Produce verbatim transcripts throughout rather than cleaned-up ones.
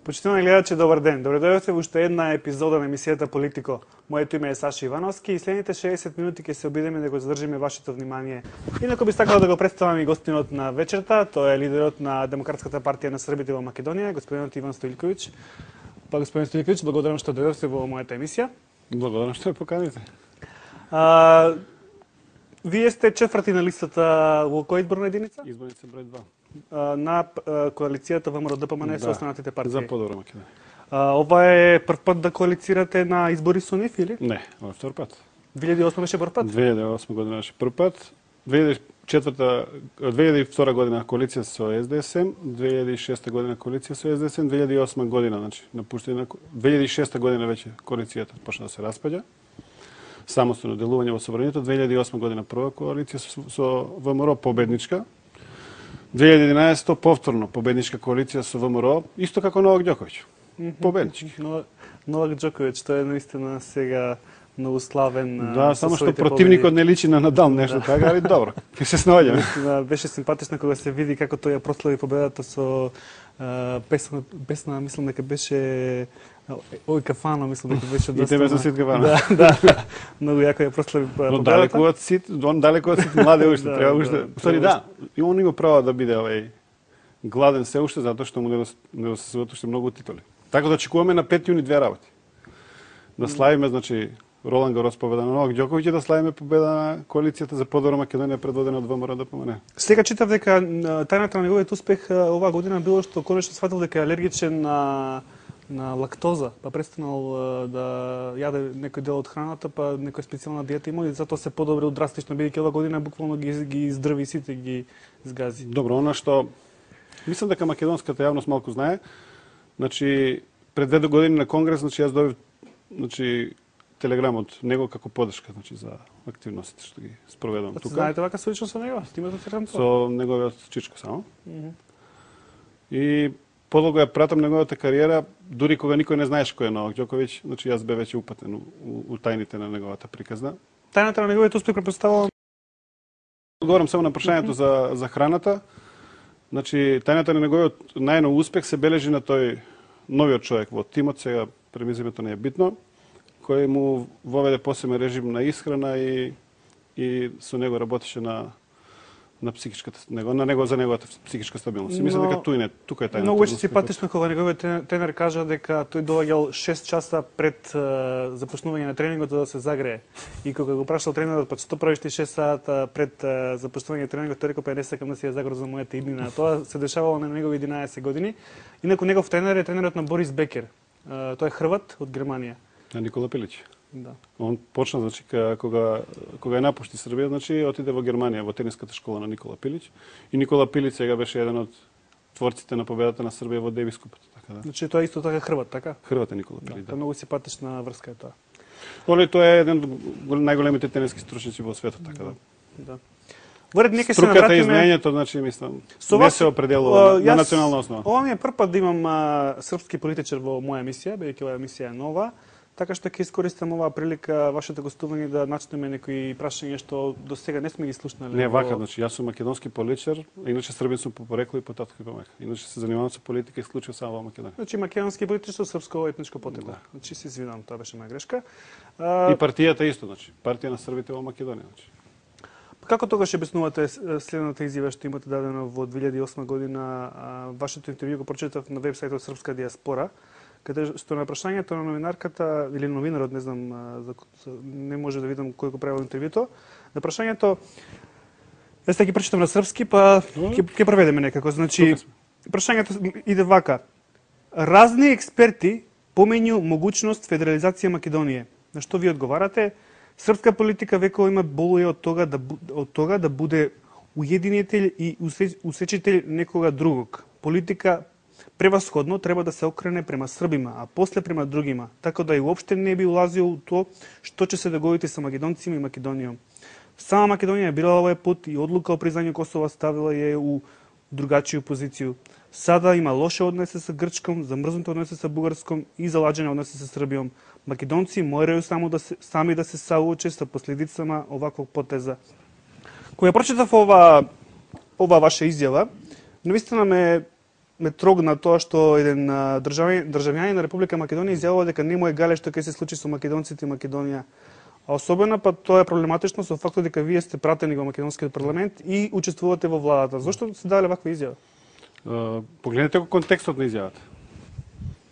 Почитувани гледачи, добар ден. Добре дојдовте во уште една епизода на емисијата Политико. Моето име е Саша Ивановски и следните шеесет минути ќе се обидеме да го задржиме вашето внимание. Инаку би сакала да го представам и гостинот на вечерта, тој е лидерот на Демократската партија на Србите во Македонија, господинот Иван Стоилковиќ. Па господин Стоилковиќ, благодарам што дојдовте во мојата емисија. Благодарам што ја поканите. А, вие сте четврти на листата во која изборна единица? Изборница број два. На коалицијата ВМРО ДПМН со останатите партии. За подобра Македонија. А, ова е прв пат да коалицирате на избори со нив или? Не, ова е втор пат. две илјади и осма беше прв пат? две илјади и осма година беше прв пат. две илјади и четврта, две илјади и втора година коалиција со СДСМ, две илјади и шеста година коалиција со СДСМ, две илјади и осма година, значи напуштање на две илјади и шеста година веќе коалицијата почна да се распаѓа. Самостојно делување во собранието, две илјади и осма година прва коалиција со, со ВМРО победничка. две илјади и единаесета повторно победничка коалиција со ВМРО, исто како Новак Ѓоковиќ. Победнички. Но, Новак Ѓоковиќ, тој е наистина сега многу славен. Да, само што противникот не личи на Надал, нешто така, али добро. Ќе се снаоѓаме. Беше симпатично кога се види како тој ја прослави победата со uh, песна, песна, мислам дека беше Ој кафана, мислам дека беше доста. И тебе со Сит кафана. Да, да. Многу јако ја прослави победата. Но далеку од Сит, он далеку од Сит младе уште, треба уште. Сори да, и он има право да биде овај гладен се уште затоа што му не се своат уште многу титули. Така да очекуваме на пети јуни две работи. Да славиме, значи, Ролан Гарос победа на Новак Ѓоковиќ и да славиме победа на коалицијата за подобра Македонија предводена од ВМРО ДПМН. Сега читав дека тајната на неговиот успех оваа година било што конечно сфатил дека е алергичен на на лактоза, па престанал да јаде некој дел од храната, па некоја специјална диета има и затоа се подобрил драстично, бидејќи оваа година буквално ги ги издрви сите, ги изгази. Добро, она што мислам дека македонската јавност малку знае, значи пред две години на конгрес, значи јас добив значи телеграм од него како поддршка, значи за активностите што ги спроведувам тука. Знаете вака со лично со него? Имате телеграм? Со неговиот чичко само. Mm -hmm. И подолго ја пратам неговата кариера, дури кога никој не знаеш кој е Новак Ѓоковиќ, значи јас бе веќе упатен у, у, у тајните на неговата приказна. Тајната на неговиот успех претпоставувам. Одговорам само на прашањето за за храната. Значи тајната на неговиот најнов успех се бележи на тој новиот човек во тимот, сега премизимето не е битно, кој му воведе посебен режим на исхрана и и со него работеше на на психичката него, на него за неговата психичка стабилност. Мислам дека туј не, тука е тајната. Многу беше симпатично кога неговиот тренер кажа дека тој доаѓал шест часа пред uh, започнување на тренингот да се загрее. И кога го прашал тренерот, па што правиш ти шест сата пред uh, започнување на тренингот, тој рекол па не сакам да се ја загрозам мојата иднина. Тоа се дешавало на негови единаесет години. Инаку негов тренер е тренерот на Борис Бекер. Uh, тој е хрват од Германија. На Никола Пилиќ. Да. Он почна, значи, кога, кога ја напушти Србија, значи, отиде во Германија, во тениската школа на Никола Пилиќ. И Никола Пилиќ сега беше еден од творците на победата на Србија во Девис купот. Така да. Значи, тоа исто така хрват, така? Хрват е Никола Пилиќ, да. Да. Многу симпатична врска е тоа. Оле, тоа е еден од најголемите тениски стручњаци во светот, така да. Да. Воред нека се навратиме. Струката и знаењето, значи, мислам, не се определува на национална основа. Ова ми е прв пат да имам а, српски политичар во моја емисија, бидејќи оваа емисија е нова. Така што ќе искористам оваа прилика вашето гостување да начнеме некои прашања што до сега не сме ги слушнали. Не вака, значи јас сум македонски политичар, иначе србин сум по порекло и по татко и по майка. Иначе се занимавам со политика исклучиво само во Македонија. Значи македонски политичар со српско етничко потекло. Да. Значи се извинувам, тоа беше моја грешка. А... И партијата исто, значи, партија на србите во Македонија, значи. Како тогаш обяснувате следната изјава што имате дадено во две илјади и осма година, вашето интервју го прочитав на вебсајтот Српска диаспора, каде што на прашањето на новинарката или новинарот, не знам, за, не може да видам кој го правил интервјуто, на прашањето, јас ќе прочитам на српски, па ќе ќе преведеме некако. Значи, прашањето иде вака: разни експерти помењу могучност федерализација Македонија. На што ви одговарате? Српска политика векова има болуја од тога да од тога да биде уединител и усечител некога другог. Политика превасходно треба да се окрене према србима, а после према другима, така да и уопште не би улазил у тоа што ќе се догоди со македонците и Македонијом. Сама Македонија бирала овој пат и одлука о признању Косова ставила ја у другачију позицију. Сада има лоши односи со Грчком, замрзнати односи со Бугарском и заладжени односи со Србијом. Македонци морају само да се, сами да се соочат со последицама оваквог потеза. Кога прочитав ова ова ваша изјава, навистина ме ме трогна тоа што еден државјанин државјанин на Република Македонија изјавува дека не му е гале што ќе се случи со македонците и Македонија. А особено па тоа е проблематично со фактот дека вие сте пратени во македонскиот парламент и учествувате во владата. Зошто се даде ваква изјава? Uh, погледнете го контекстот на изјавата.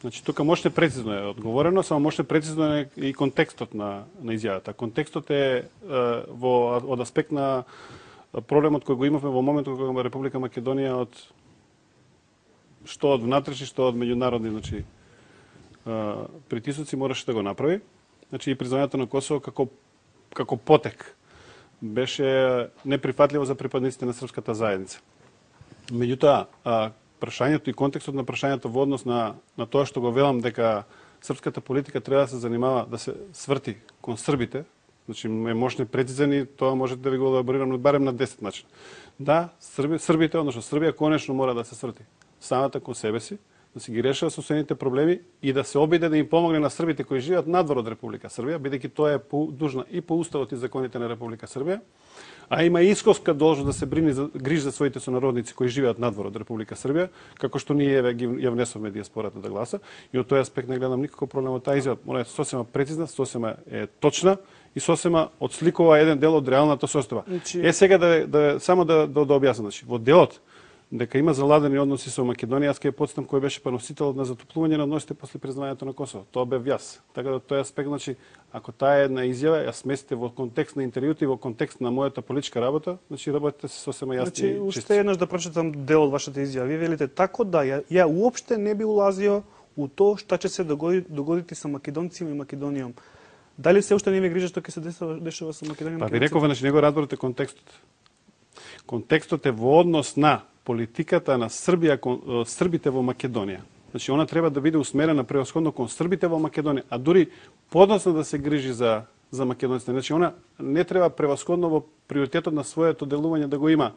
Значи тука мошне прецизно е одговорено, само мошне прецизно е и контекстот на на изјавата. Контекстот е uh, во од аспект на проблемот кој го имавме во моментот кога Република Македонија од што од внатрешни, што од меѓународни, значи uh, притисоци мораше да го направи. Значи и признавањето на Косово како како потек беше неприфатливо за припадниците на српската заедница. Меѓутоа, прашањето и контекстот на прашањето во однос на на тоа што го велам дека српската политика треба да се занимава да се сврти кон србите, значи е мошне прецизен и тоа може да ви го елаборирам барем на десет начина. Да, срби, србите, односно Србија конечно мора да се сврти самата кон себе си, да си ги решава собствените проблеми и да се обиде да им помогне на србите кои живеат надвор од Република Србија, бидејќи тоа е дужна и по уставот и законите на Република Србија, а има и исковска должност да се брини за грижи за своите сонародници кои живеат надвор од Република Србија, како што ние еве ги ја внесовме дијаспората да гласа, и од тој аспект не гледам никаков проблем од таа изјава. Она е сосема прецизна, сосема е точна и сосема отсликува еден дел од реалната состојба. Значи... Е сега да, да само да да, да објаснам, значи во делот дека има заладени односи со Македонија, аз ќе потстам кој беше поносителот на затоплување на односите после признавањето на Косово. Тоа бев јас. Така да тој аспект, значи, ако таа е една изјава, ја сместите во контекст на интервјуто и во контекст на мојата политичка работа, значи работите се сосема јасни. Значи, уште еднаш да прочитам дел од вашата изјава. Вие велите тако да ја, ја уопште не би улазио у тоа што ќе се догоди, догодити со македонците и Македонијом. Дали се уште не ви грижа што ќе се дешава, дешава со Македонија? Па ви реков, значи, него разберете контекстот. Контекстот е во однос на политиката на Србија кон србите во Македонија. Значи она треба да биде усмерена превосходно кон србите во Македонија, а дури подоцна да се грижи за за македонците. Значи она не треба превосходно во приоритетот на своето делување да го има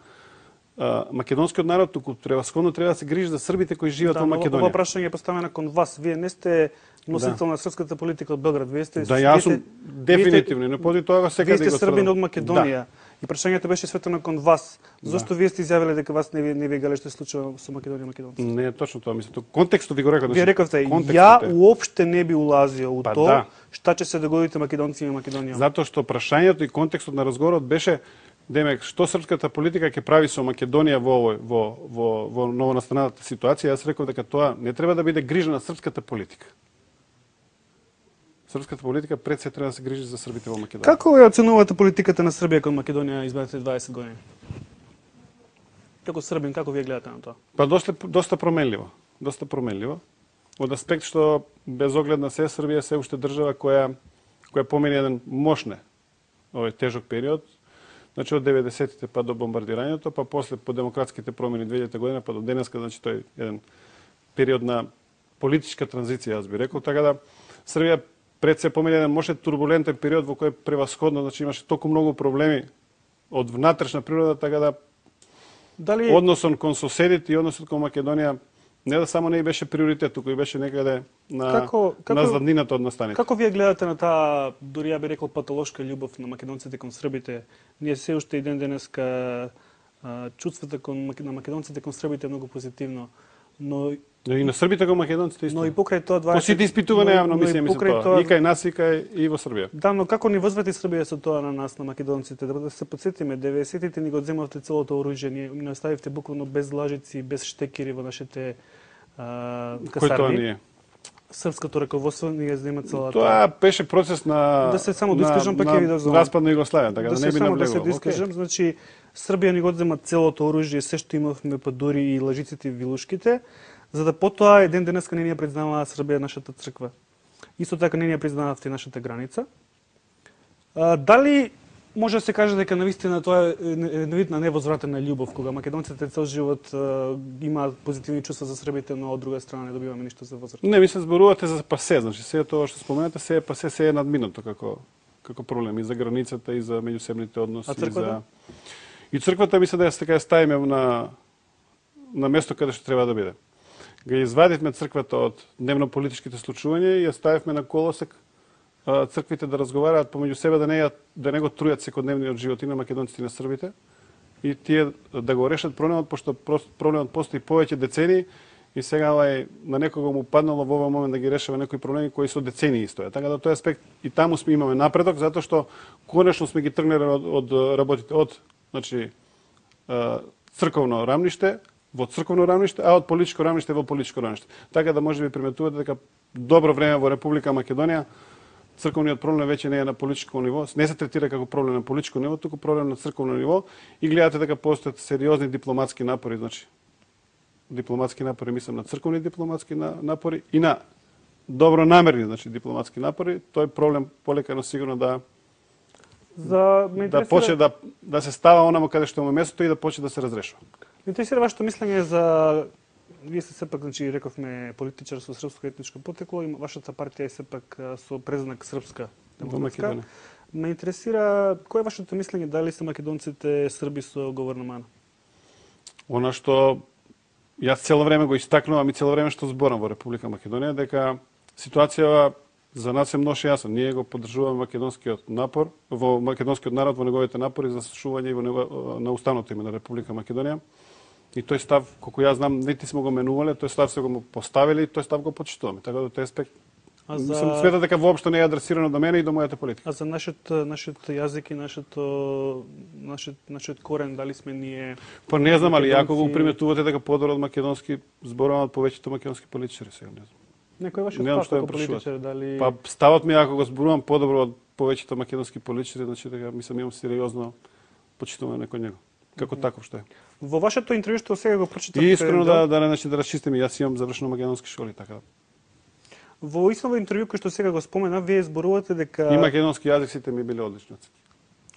а, македонскиот народ, туку превосходно треба да се грижи за србите кои живеат да, во Македонија. Ова прашање е поставено кон вас. Вие не сте носител да. на српската политика од Белград. Вие сте Да, јас сум дефинитивно, не поди тоа секаде да го сте србин од Македонија. Да. И прашањето беше светено кон вас. Зошто да. вие сте изјавиле дека вас не ви не ви гале што се случува со Македонија и македонците? Не е точно тоа, мислам. Контекстот ви го реков. Вие рековте, ја уопште не би улазио у па, тоа да. што ќе се догодите македонците и Македонија. Затоа што прашањето и контекстот на разговорот беше демек што српската политика ќе прави со Македонија во овој во во во новонастаналата ситуација. Јас реков дека тоа не треба да биде грижа на српската политика. Српската политика пред се треба да се грижи за србите во Македонија. Како ја оценувате политиката на Србија кон Македонија изминатите дваесет години? Како србин, како вие гледате на тоа? Па доста доста променливо, доста променливо. Од аспект што без оглед на се Србија се уште држава која која помине еден мошне овој тежок период. Значи од деветдесетите па до бомбардирањето, па после по демократските промени две илјадета година па до денеска, значи тој еден период на политичка транзиција, јас би рекол, така да Србија пред се помине еден може турбулентен период во кој превасходно, значи имаше толку многу проблеми од внатрешна природа, така да дали односот кон соседите и односот кон Македонија не да само не беше приоритет, туку и беше некаде на како, како, на заднината од настаните. Како вие гледате на таа, дури ја би рекол патолошка љубов на македонците кон србите? Ние се уште и ден денеска чувството кон на македонците кон србите е многу позитивно, но и на србите кон македонците исто. Но и покрај тоа дваесет По сите испитувања јавно мислеме за тоа. тоа. И кај нас и кај и во Србија. Да, но како ни возврати Србија со тоа на нас, на македонците? Да се подсетиме, деветдесетите ни го земавте целото оружје, ни, ни оставивте буквално без лажици, без штекери во нашите а, касарни. Кој тоа ни е? Српското раководство ни ја зема целата. Тоа беше процес на да се само доискажам па ќе ви дозволам. Распад на Југославија, така да, да не би навлегувал. навлегувал. Да се доискажам, okay. Значи Србија ни го зема целото оружје, се што имавме, па дури и лажиците и вилушките, за да потоа еден денеска не ни ја признава Србија нашата црква. Исто така не ни ја признававте нашата граница. А, дали може да се каже дека навистина тоа е вид на невозвратена љубов, кога македонците цел живот а, имаат позитивни чувства за србите, но од друга страна не добиваме ништо за возврат? Не, мислам зборувате за пасе, значи се тоа што споменате се е пасе, се е надминато како како проблем и за границата и за меѓусебните односи и за и црквата мисля да ја така ја ставиме на на место каде што треба да биде. Га извадивме црквата од дневно-политичките случувања и ја ставивме на колосек црквите да разговараат помеѓу себе, да не ја, да не го трујат секојдневниот живот и на македонците и на србите, и тие да го решат проблемот, пошто проблемот постои повеќе децении и сега ovaj, на некого му паднало во овој момент да ги решава некои проблеми кои со децении стојат. Така да тој аспект и таму сме имаме напредок, затоа што конечно сме ги тргнали од, од работите од значи црковно рамниште во црковно рамниште, а од политичко рамниште во политичко рамниште. Така да може би приметувате дека добро време во Република Македонија црковниот проблем веќе не е на политичко ниво, не се третира како проблем на политичко ниво, туку проблем на црковно ниво и гледате дека постојат сериозни дипломатски напори, значи дипломатски напори, мислам на црковни дипломатски напори и на добронамерни, значи дипломатски напори, тој проблем полека но сигурно да За да почне да да се става онамо каде што му е местото и да почне да се разрешува. Ме интересира вашето мислење за вие сте сепак, значи рековме политичар со српско етничко потекло и вашата партија е сепак со преззнак српска демократска. Ме интересира кој е вашето мислење дали се македонците срби со говорна мана? Она што јас цело време го истакнувам и цело време што зборам во Република Македонија дека ситуацијава за нас е многу јасна. Ние го поддржуваме македонскиот напор, во македонскиот народ во неговите напори за сошување во него, на уставното име на Република Македонија. И тој став, колку јас знам, нити сме го менувале, тој став се го поставили и тој став го почитуваме. Така да тој аспект а за... Мислам, сметам дека воопшто не е адресирано до мене и до мојата политика. А за нашиот нашиот јазик и нашето нашиот нашиот корен дали сме ние Па не знам, али ако го приметувате дека подобро од македонски зборуваат повеќето македонски политичари, сега не знам. Некој вашиот став како политичар дали Па ставот ми ако го зборувам подобро од повеќето македонски политичари, значи дека мислам имам сериозно почитуваме кон него. Како mm-hmm. таков што е. Во вашето интервју што сега го прочитавте... И искрено да, да, значи, да расчистиме, јас имам завршено македонски школи, така. Во исто интервју кој што сега го спомена, вие зборувате дека... И македонски јазик сите ми биле одлични.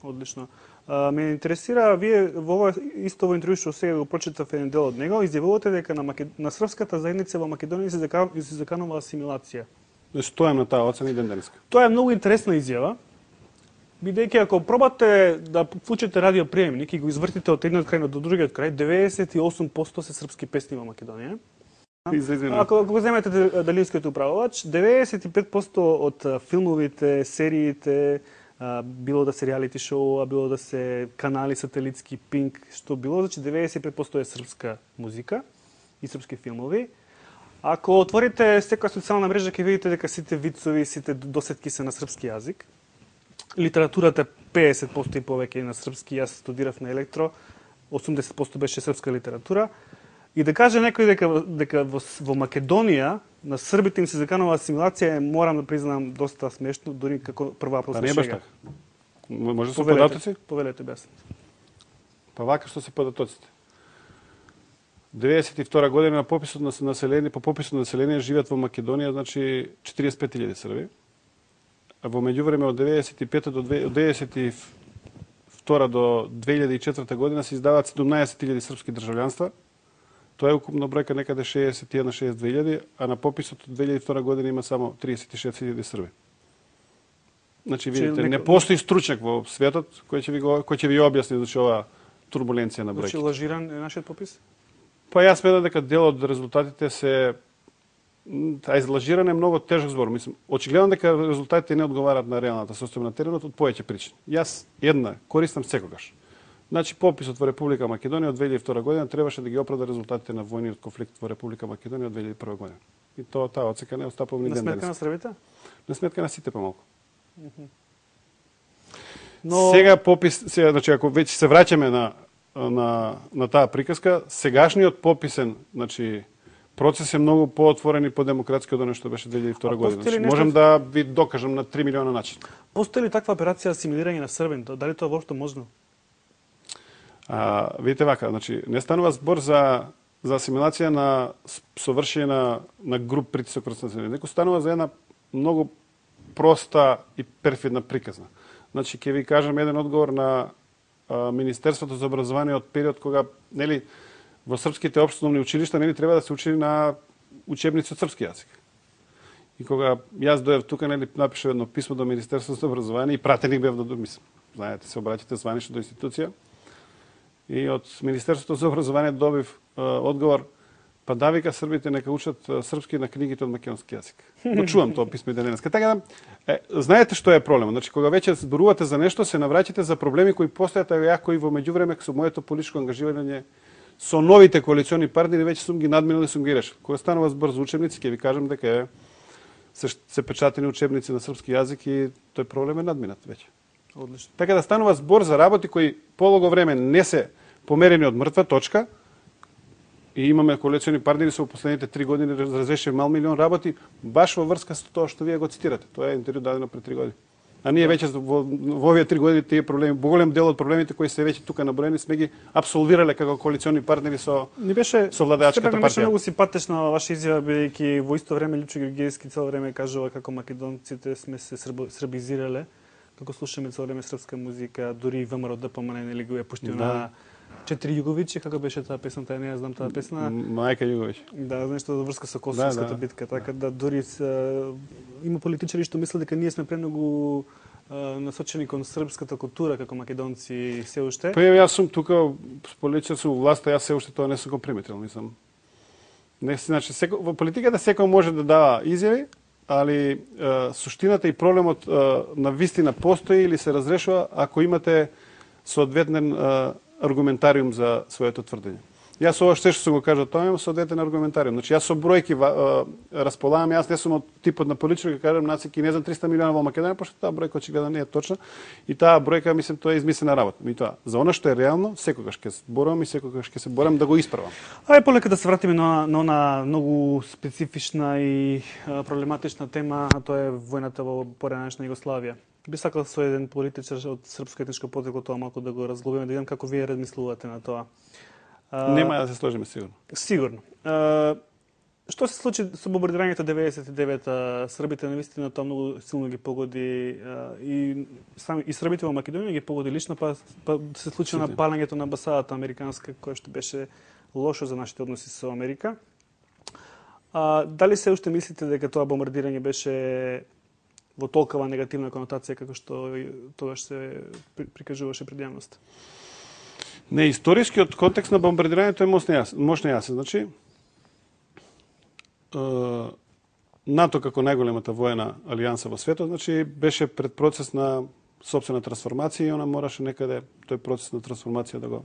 Одлично. А, ме интересира, вие во ова исто во интервју што сега го прочитав еден дел од него, изјавувате дека на, Макед... на српската заедница во Македонија се, зека... се заканува асимилација. Стојам на таа оцена и ден денеска. Тоа е многу интересна изјава. Бидејќи ако пробате да вклучите радиоприемник и го извртите од едниот крај до другиот крај, деветдесет и осум проценти се српски песни во Македонија. Ако, ако го земете далинскиот управувач, деветдесет и пет проценти од филмовите, сериите, било да се реалити шоу, било да се канали сателитски, Пинк, што било, значи деветдесет и пет проценти е српска музика и српски филмови. Ако отворите секоја социјална мрежа, ќе видите дека сите вицови, сите досетки се на српски јазик. Литературата педесет проценти и повеќе на српски, јас студирав на електро, осумдесет проценти беше српска литература. И да каже некој дека, дека во, во Македонија на србите им се заканува асимилација, морам да признам доста смешно, дури како прва априлска шега. Не баш така. Може да се податоци? Повелете без. Па вака што се податоците. деветдесет и втора година на пописот на население, по пописот на население живеат во Македонија, значи четириесет и пет илјади срби. А во меѓувреме од деветдесет и пета до деветдесет и втора до две илјади и четврта година се издаваат седумнаесет илјади српски државјанства. Тоа е укупна бројка некаде шеесет и една до шеесет и две илјади, а на пописот од две илјади и втора година има само тридесет и шест илјади срби. Значи видите, не постои стручњак во светот кој ќе ви го кој ќе ви објасни значи ова турбуленција на бројките. Значи лажиран е нашиот попис? Па јас сметам дека дел од резултатите се а излажиране е многу тежок збор. Мислам, очигледно дека резултатите не одговараат на реалната состојба на теренот од повеќе причини. Јас една користам секогаш. Значи пописот во Република Македонија од две илјади и втора година требаше да ги оправда резултатите на војниот конфликт во Република Македонија од две илјади и прва година. И тоа таа оцека не остапува ни ден денес. На сметка на србите? На сметка на сите помалку. Mm -hmm. Но сега попис, сега значи ако веќе се враќаме на на на таа приказка, сегашниот пописен, значи процес е многу поотворен и подемократски од оно што беше две илјади и втора година. Значи, можам да ви докажам на три милиона начини. Постои ли таква операција асимилирање на србин? Дали тоа воопшто можно? А, видите вака, значи не станува збор за за асимилација на совршење на на груп притисок врз населението. Неко станува за една многу проста и перфидна приказна. Значи ќе ви кажам еден одговор на а, Министерството за образование од период кога нели во српските општовни училишта нели треба да се учи на учебници од српски јазик. И кога јас дојдов тука нели напишав едно писмо до Министерството за образование и пратеник бев до мислам. Знаете, се обраќате званично до институција. И од Министерството за образование добив а, одговор, па да вика србите нека учат а, српски на книгите од македонски јазик. Го чувам тоа писмо и денеска. Така да, е, знаете што е проблемот? Значи кога веќе зборувате за нешто, се навраќате за проблеми кои постојат, а ја кои во меѓувреме со моето политичко ангажирање со новите коалициони партнери веќе сум ги надминал и сум ги решил. Кога станува збор за учебници, ќе ви кажам дека е се, се печатени учебници на српски јазик и тој проблем е надминат веќе. Одлично. Така да станува збор за работи кои полого време не се померени од мртва точка и имаме коалициони партнери со последните три години разреши мал милион работи баш во врска со тоа што вие го цитирате. Тоа е интервју дадено пред три години. А ние веќе во, во овие три години тие проблеми, голем дел од проблемите кои се веќе тука наброени сме ги апсолвирале како коалициони партнери со Ни беше со владеачката партија. Ми беше многу симпатична ваша изјава, бидејќи во исто време Лјупчо Георгиевски цело време кажува како македонците сме се срб, србизирале, како слушаме цело време српска музика, дури и ВМРО ДПМН нели го е пуштил Да. на Четири Југовиќи, како беше таа песна, таа не ја знам таа песна. Мајка Југовиќ. Да, нешто за врска со Косовската Да, да. битка, така да дури с, има политичари што мислат дека ние сме премногу насочени кон српската култура како македонци се уште. Па јас сум тука политичар сум во власта, јас се уште тоа не сум го приметил, мислам. Не, значи секој во политиката секој може да дава изјави, али е, суштината и проблемот е, на вистина постои или се разрешува ако имате соодветен е, аргументариум за своето тврдење. Јас ова што сум го кажал, тоа имам соодветен аргументариум. Значи јас со бројки располагам, јас не сум од типот на политичар кој кажам нацики не знам триста милиона во Македонија, пошто таа бројка очигледно не е точна и таа бројка мислам тоа е измислена работа. И тоа за она што е реално секогаш ќе се борам и секогаш ќе се борам да го исправам. Ајде полека да се вратиме на на она многу специфична и а, проблематична тема, а тоа е војната во поранешна Југославија. Би сакал со еден политичар од српско етничко потрекло тоа малку да го разглобиме, да видам како вие размислувате на тоа. Uh, Нема да се сложиме сигурно. Сигурно. Uh, што се случи со бомбардирањето деветдесет и девета? Србите навистина тоа многу силно ги погоди uh, и сами и србите во Македонија ги погоди лично, па, па се случи на палењето на амбасадата американска, која што беше лошо за нашите односи со Америка. Uh, дали се уште мислите дека тоа бомбардирање беше во толкова негативна конотација како што тогаш се прикажуваше пред јавноста? Не, историскиот контекст на бомбардирањето е мощно јасен. Мощно јасен. Значи, е, НАТО како најголемата воена алијанса во светот, значи беше пред процес на сопствена трансформација и она мораше некаде тој процес на трансформација да го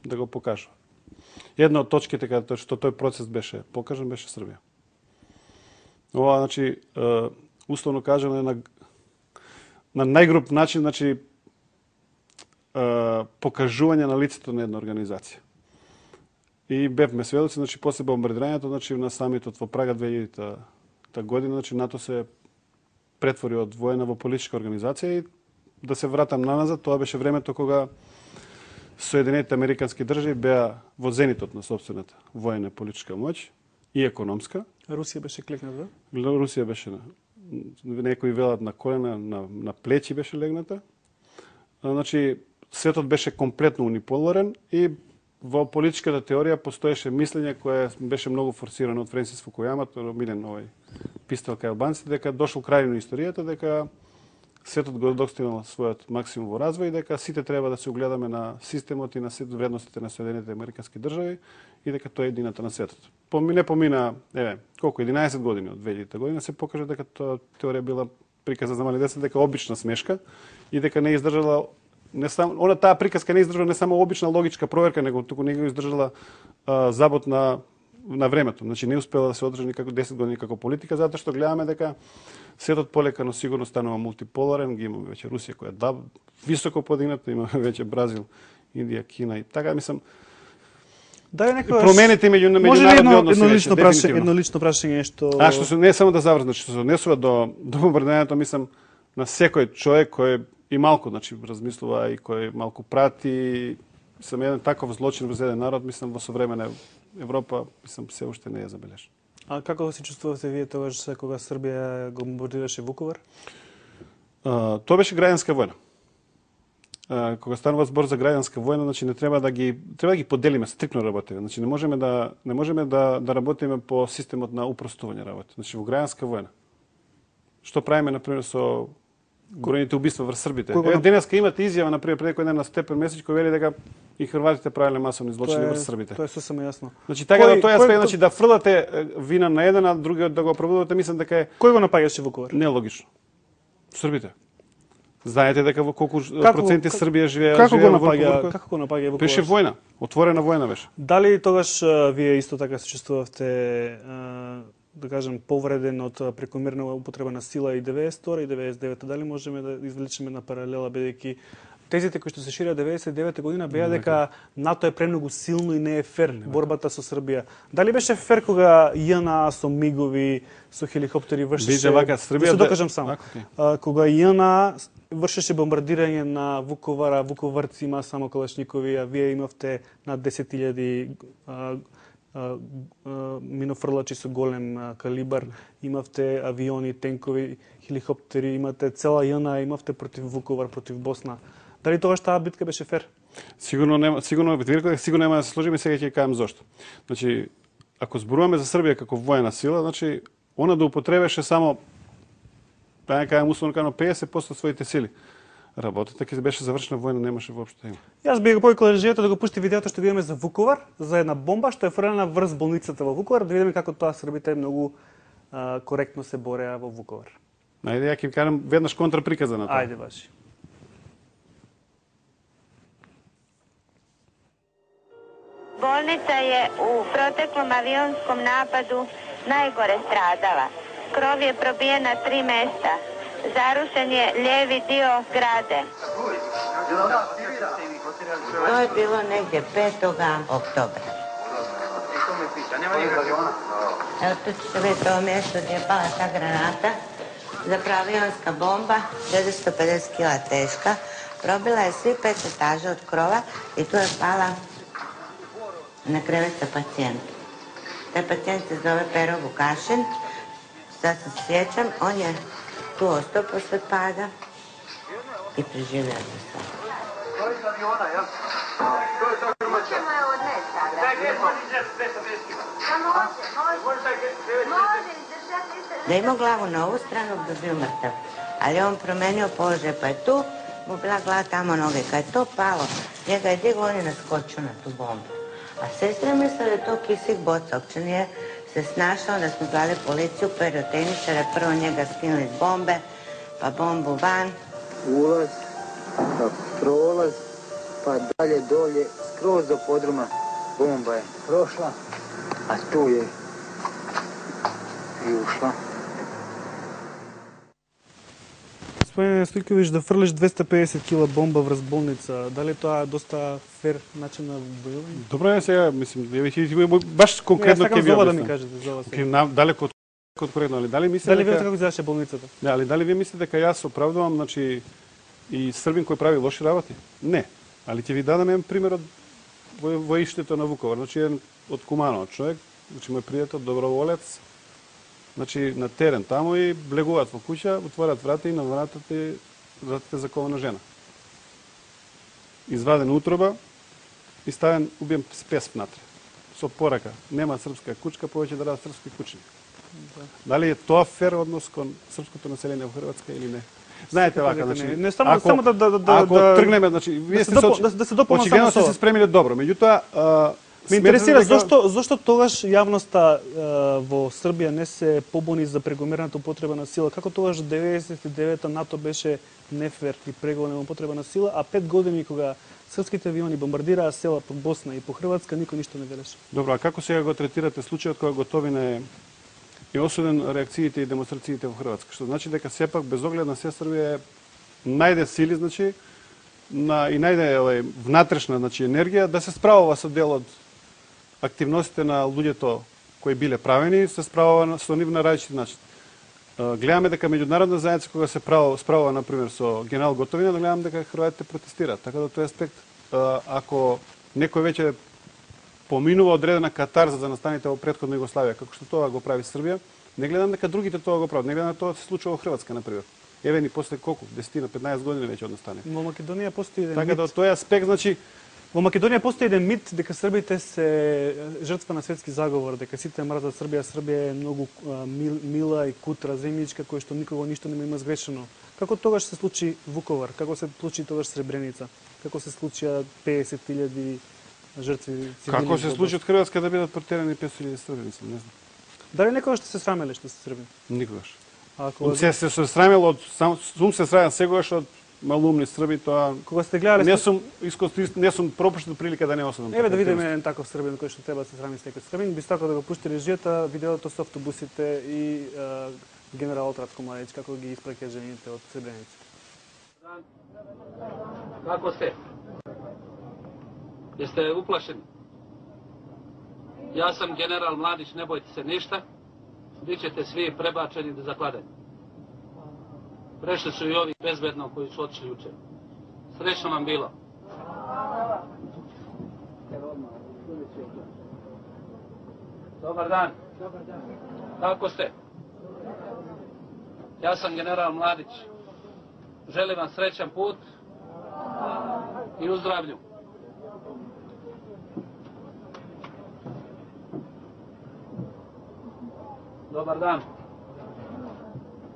да го покажа. Една од точките каде што тој процес беше покажан беше Србија. Ова значи е, условно кажано е на на најгруп начин, значи покажување на лицето на една организација. И бевме сведоци, значи после бомбардирањето, значи на самитот во Прага две илјадета година, значи НАТО се претвори од воена во политичка организација и да се вратам наназад, тоа беше времето кога Соединетите американски држави беа во зенитот на собствената воена политичка моќ и економска. Русија беше клекната? Русија беше на некои велат на колена, на, на плечи беше легната. Значи светот беше комплетно униполарен и во политичката теорија постоеше мислење кое беше многу форсирано од Френсис Фукујама, милен овој пистол кај албанците, дека дошол крај на историјата, дека светот го достигнал својот максимум во развој и дека сите треба да се огледаме на системот и на вредностите на Соединетите американски држави и дека тоа е едината на светот. Не помина, еве, колку единаесет години од две илјадета година се покажа дека тоа теорија била приказа за мали деца, дека обична смешка и дека не издржала не само она таа приказка не издржала не само обична логичка проверка, него туку не го издржала а, забот на на времето. Значи не успела да се одржи никако десет години како политика, затоа што гледаме дека светот полека но сигурно станува мултиполарен, ги имаме веќе Русија која да високо подигната, имаме веќе Бразил, Индија, Кина и така мислам. Да, некојаш промените меѓу меѓународни односи. Едно лично прашање, едно лично прашање што А што се не само да завршам, значи што се однесува до до бомбардирањето, мислам на секој човек кој и малку, значи размислува и кој малку прати, сам еден таков злочин во еден народ, мислам во современа Европа, мислам се уште не е забележен. А како се чувствувате вие тогаш кога Србија го бомбардираше Вуковар? А, тоа беше граѓанска војна. А, кога станува збор за граѓанска војна, значи не треба да ги треба да ги поделиме, стрикно работиме. Значи не можеме да не можеме да да работиме по системот на упростување работи. Значи во граѓанска војна. Што правиме на пример со бројните убиства врз србите? Еве денеска имате изјава на пример пред некој ден на Степен Месич кој вели дека и хрватите правеле масовни злочини врз србите. Тоа е сосема јасно. Значи така да тоа е аспект, значи да фрлате вина на еден, а другиот да го оправдувате, мислам дека е кој го напаѓаше Вуковар? Нелогично. Србите. Знаете дека во колку Како- проценти как- Србија живее Како го живее во напаѓа, Вуков? како го напаѓа Вуковар? Беше војна, отворена војна беше. Дали тогаш а, вие исто така се чувствувавте, а, да кажем, повреден од а, прекомерна употреба на сила и деветдесет и втора и деветдесет и девета? Дали можеме да извлечеме на паралела, бидејќи тезите кои што се ширија деветдесет и девета година беа дека НАТО е премногу силно и не е фер борбата со Србија. Дали беше фер кога ЈНА со мигови, со хеликоптери вршеше... Видите, вака, Србија да се де- докажам само. Вака, окей. А, кога ЈНА вршеше бомбардирање на Вуковара, вуковарци има само калашникови, а вие имавте над десет илјади а, а, а, минофрлачи со голем а, калибар, имавте авиони, тенкови, хеликоптери, имате цела ЈНА, имавте против Вуковар, против Босна. Дали тогаш таа битка беше фер? Сигурно нема, сигурно ви реков, сигурно нема да се сложиме, сега ќе кажам зошто. Значи, ако зборуваме за Србија како војна сила, значи она да употребеше само да не кажам условно кажано педесет проценти своите сили. Работата ќе беше завршена војна, немаше воопшто да има. Јас би го повикал режијата да го пушти видеото што видиме за Вуковар, за една бомба што е фрлена врз болницата во Вуковар, да видиме како тоа србите многу а, коректно се бореа во Вуковар. Ајде, ја ќе ви кажам веднаш контраприказа на тоа. Ајде баши. Bolnica je u proteklom avionskom napadu najgore stradala. Krov je probijen na tri mesta. Zarušen je lijevi dio zgrade. To je bilo negdje petog oktobra. Evo tu ćete vidjeti ovo mjesto gdje je pala ta granata. Zapravo avionska bomba, četiristo pedeset kila teška. Probila je svi pet etaža od krova i tu je pala na krevet sa pacijentom. Taj pacijent se zove Pero Vukašin. Sad se sjećam, on je tu ostao posle pada i preživio za sve. Da je imao glavu na ovu stranu, bi bio mrtav. Ali on promenio položaj, pa je tu mu bila glava tamo noge. Kad je to palo, njega je digo, on je naskočio na tu bombu. A sestra misle da je to kisik boca, uopće nije se snašao, da smo zvali policiju, pirotehničare, prvo njega skinuli s bombe, pa bombu van. Ulaz, pa prolaz, pa dalje dolje, skroz do podruma. Bomba je prošla, a tu je i ušla. Господине Стојковиќ, да фрлиш двесте педесет кила бомба врз болница, дали тоа е доста фер начин на војување? Добро е сега, мислим, ја ви баш конкретно ќе ви за ова да ми објаснам. кажете, за ова Ке сега. на далеко од од коректно, али дали мислите Дали дека видите како изгледаше болницата? Да, али дали вие мислите дека јас оправдувам, значи и Србин кој прави лоши работи? Не. Али ќе ви дадам еден пример од во, воиштето на Вуковар, значи еден од Куманово човек, значи мој пријател, доброволец, значи на терен таму и влегуваат во куќа, отворат врата и на вратата вратата закована жена. Изваден утроба и ставен убиен спес внатре. Со порака, нема српска кучка, повеќе да дадат српски кучни. Да. Дали е тоа фер однос кон српското население во Хрватска или не? Знаете вака, дека значи, не. Не, само- ако, само да- да- да- ако да- тргнеме, значи, вие се сте допол- се, да- да се дополнам очигледно само сте со се ова. спремиле добро. Меѓутоа, а, Ме сметате интересира дека- зошто зошто тогаш јавноста е, во Србија не се побуни за прекомерната употреба на сила. Како тогаш деветдесет и девета НАТО беше нефер и преголема употреба на сила, а пет години кога српските авиони бомбардираа села по Босна и по Хрватска, никој ништо не велеше. Добро, а како сега го третирате случајот кога Готовина е е осуден реакциите и демонстрациите во Хрватска? Што значи дека сепак без оглед на се Србија најде сили, значи на и најде овај внатрешна, значи енергија да се справува со дел од активностите на луѓето кои биле правени, се справува со нив на различит начин. Гледаме дека меѓународна заедница кога се право, справува на пример со генерал Готовина, да гледам дека хрватите протестираат. Така да тој аспект, ако некој веќе поминува одредена катарза за настаните во претходна Југославија, како што тоа го прави Србија, не гледам дека другите тоа го прават. Не гледам дека тоа се случува во Хрватска на пример. Еве ни после колку, десет на петнаесет години веќе од настане. Во Македонија постои еден Така мит. да од тој аспект, значи, Во Македонија постои еден мит дека србите се жртва на светски заговор, дека сите мразат Србија, Србија е многу а, мил, мила и кутра земјичка кој што никого ништо не има сгрешено. Како тогаш се случи Вуковар? Како се случи тогаш Сребреница? Како се случија педесет илјади жртви цивилни? како се во случи од Хрватска да бидат протерани петстотини илјади србини, не знам. Дали некогаш сте се срамеле што се србин? Никогаш. Ако Се се се срамел од сам сум се срамел сегогаш од малумни Срби, тоа Кога сте гледале не сум искористил, не сум пропуштил прилика да не осудам. Еве да видиме еден таков србин кој што треба да се срами с некој србин, би сакал да го пушти режијата, видеото со автобусите и а, генералот Ratko Mladić како ги испраќа жените од Сребреница. Како сте? Jeste uplašeni? Ja sam general Mladić, ne bojte se ništa. Bićete svi prebačeni do zakladanja. Prešli su i ovi bezbedno koji su otišli juče. Srećno vam bilo. Dobar dan. Kako ste? Ja sam general Mladić. Želim vam srećan put i u zdravlju. Dobar dan.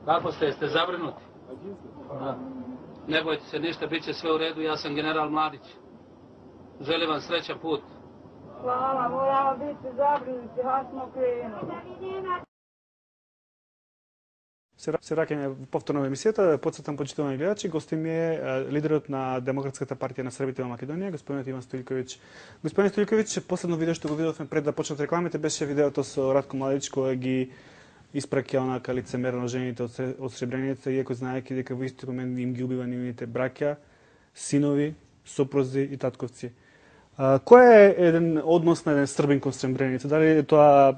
Kako ste? Jeste zabrinuti? Da. Ne bojte se ništa, bit će sve u redu. Ja sam general Mladić. Želim vam srećan put. Hvala, moramo biti zabrinuti, ha smo krenuli. Се раќаме повторно во емисијата, потсетам почитувани гледачи, гости ми е лидерот на Демократската партија на Србите во Македонија, господинот Иван Стојковиќ. Господин Стојковиќ, последно видео што го видовме пред да почнат рекламите беше видеото со Ratko Mladić кој ги испраќа онака лицемерно жените од, од Сребреница, иако знаеки дека во истиот момент им ги убива нивните браќа, синови, сопрузи и татковци. А, кој е еден однос на еден србин кон Сребреница? Дали е тоа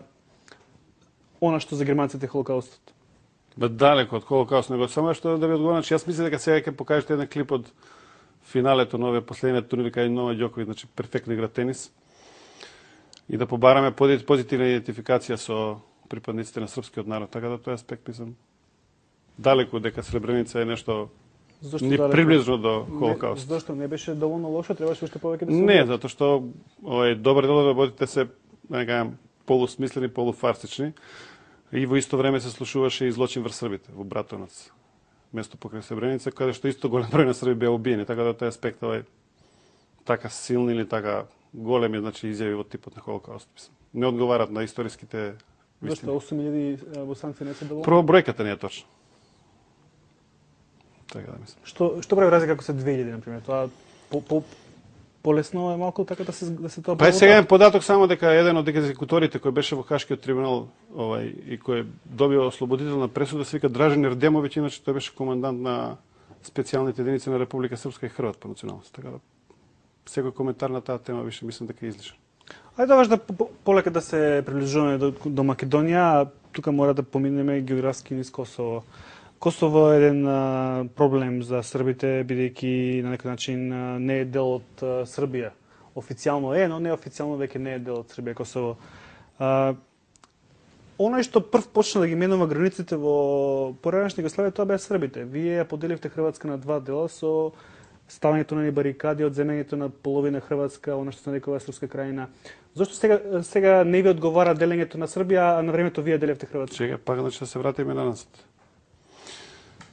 она што за германците Холокаустот? Ба далеко од Холокаust, него само што да ви одговорам, јас мислам дека сега ќе покажете еден клип од финалето на овие последниот турнир кај Новак Ѓоковиќ, значи перфектно игра тенис. И да побараме позитивна идентификација со припадниците на српскиот народ, така да тој аспект мислам далеко дека Сребреница е нешто Зошто ни далеко? приближно до Холокаust. Не, зашто не беше доволно лошо, требаше уште повеќе да се Не, затоа што овој добар дел од работите се, да не кажам, полусмислени, полуфарсични. И во исто време се слушуваше и злочин врз Србите во Братонац, место покрај Сребреница, каде што исто голем број на Срби беа убиени, така да тој аспект овај така силни или така големи, значи изјави во типот на Холокаust, мислам. Не одговарат на историските вистини. Зашто осум илјади босанци не се доволни? Прво бројката не е точна. Така да мислам. Што што прави разлика ако се две илјади на пример? Тоа по, по полесно е малку така да се да се тоа. Па е сега е податок само дека еден од екзекуторите кој беше во Хашкиот трибунал, овај и кој добива ослободителна пресуда се вика Дражен Ердемовиќ, иначе тој беше командант на специјалните единици на Република Српска и Хрват по националност. Така да секој коментар на таа тема више мислам дека е излишен. Ајде даваш да полека да се приближуваме до, до Македонија, тука мора да поминеме географски низ Косово. Косово е еден а, проблем за србите, бидејќи на некој начин а, не е дел од а, Србија. Официјално е, но неофицијално веќе не е дел од Србија Косово. А, оној што прв почна да ги менува границите во поранешна Југославија, тоа беа србите. Вие ја поделивте Хрватска на два дела со ставањето на барикади, одземањето на половина Хрватска, она што се нарекува Српска крајина. Зошто сега сега не ви одговара делењето на Србија, а на времето вие делевте Хрватска? Чека, пак значи да се вратиме на назад.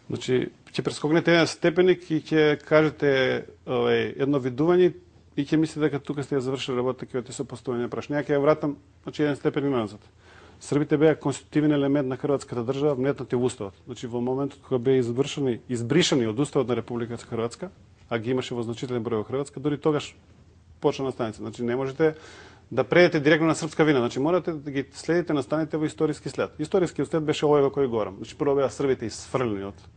Значи, ќе прескокнете еден степеник и ќе кажете овај едно видување и ќе мислите дека тука сте ја завршили работата, ќе одите со поставување прашања. Ќе ја вратам, значи еден степеник назад. Србите беа конститутивен елемент на хрватската држава, внетнати во уставот. Значи во моментот кога беа извршени, избришани од уставот на Република Хрватска, а ги имаше во значителен број во Хрватска, дури тогаш почна настаница. Значи не можете да предете директно на српска вина, значи морате да ги следите настаните во историски след. Историскиот след беше овој во кој говорам. Значи прво беа србите исфрлени од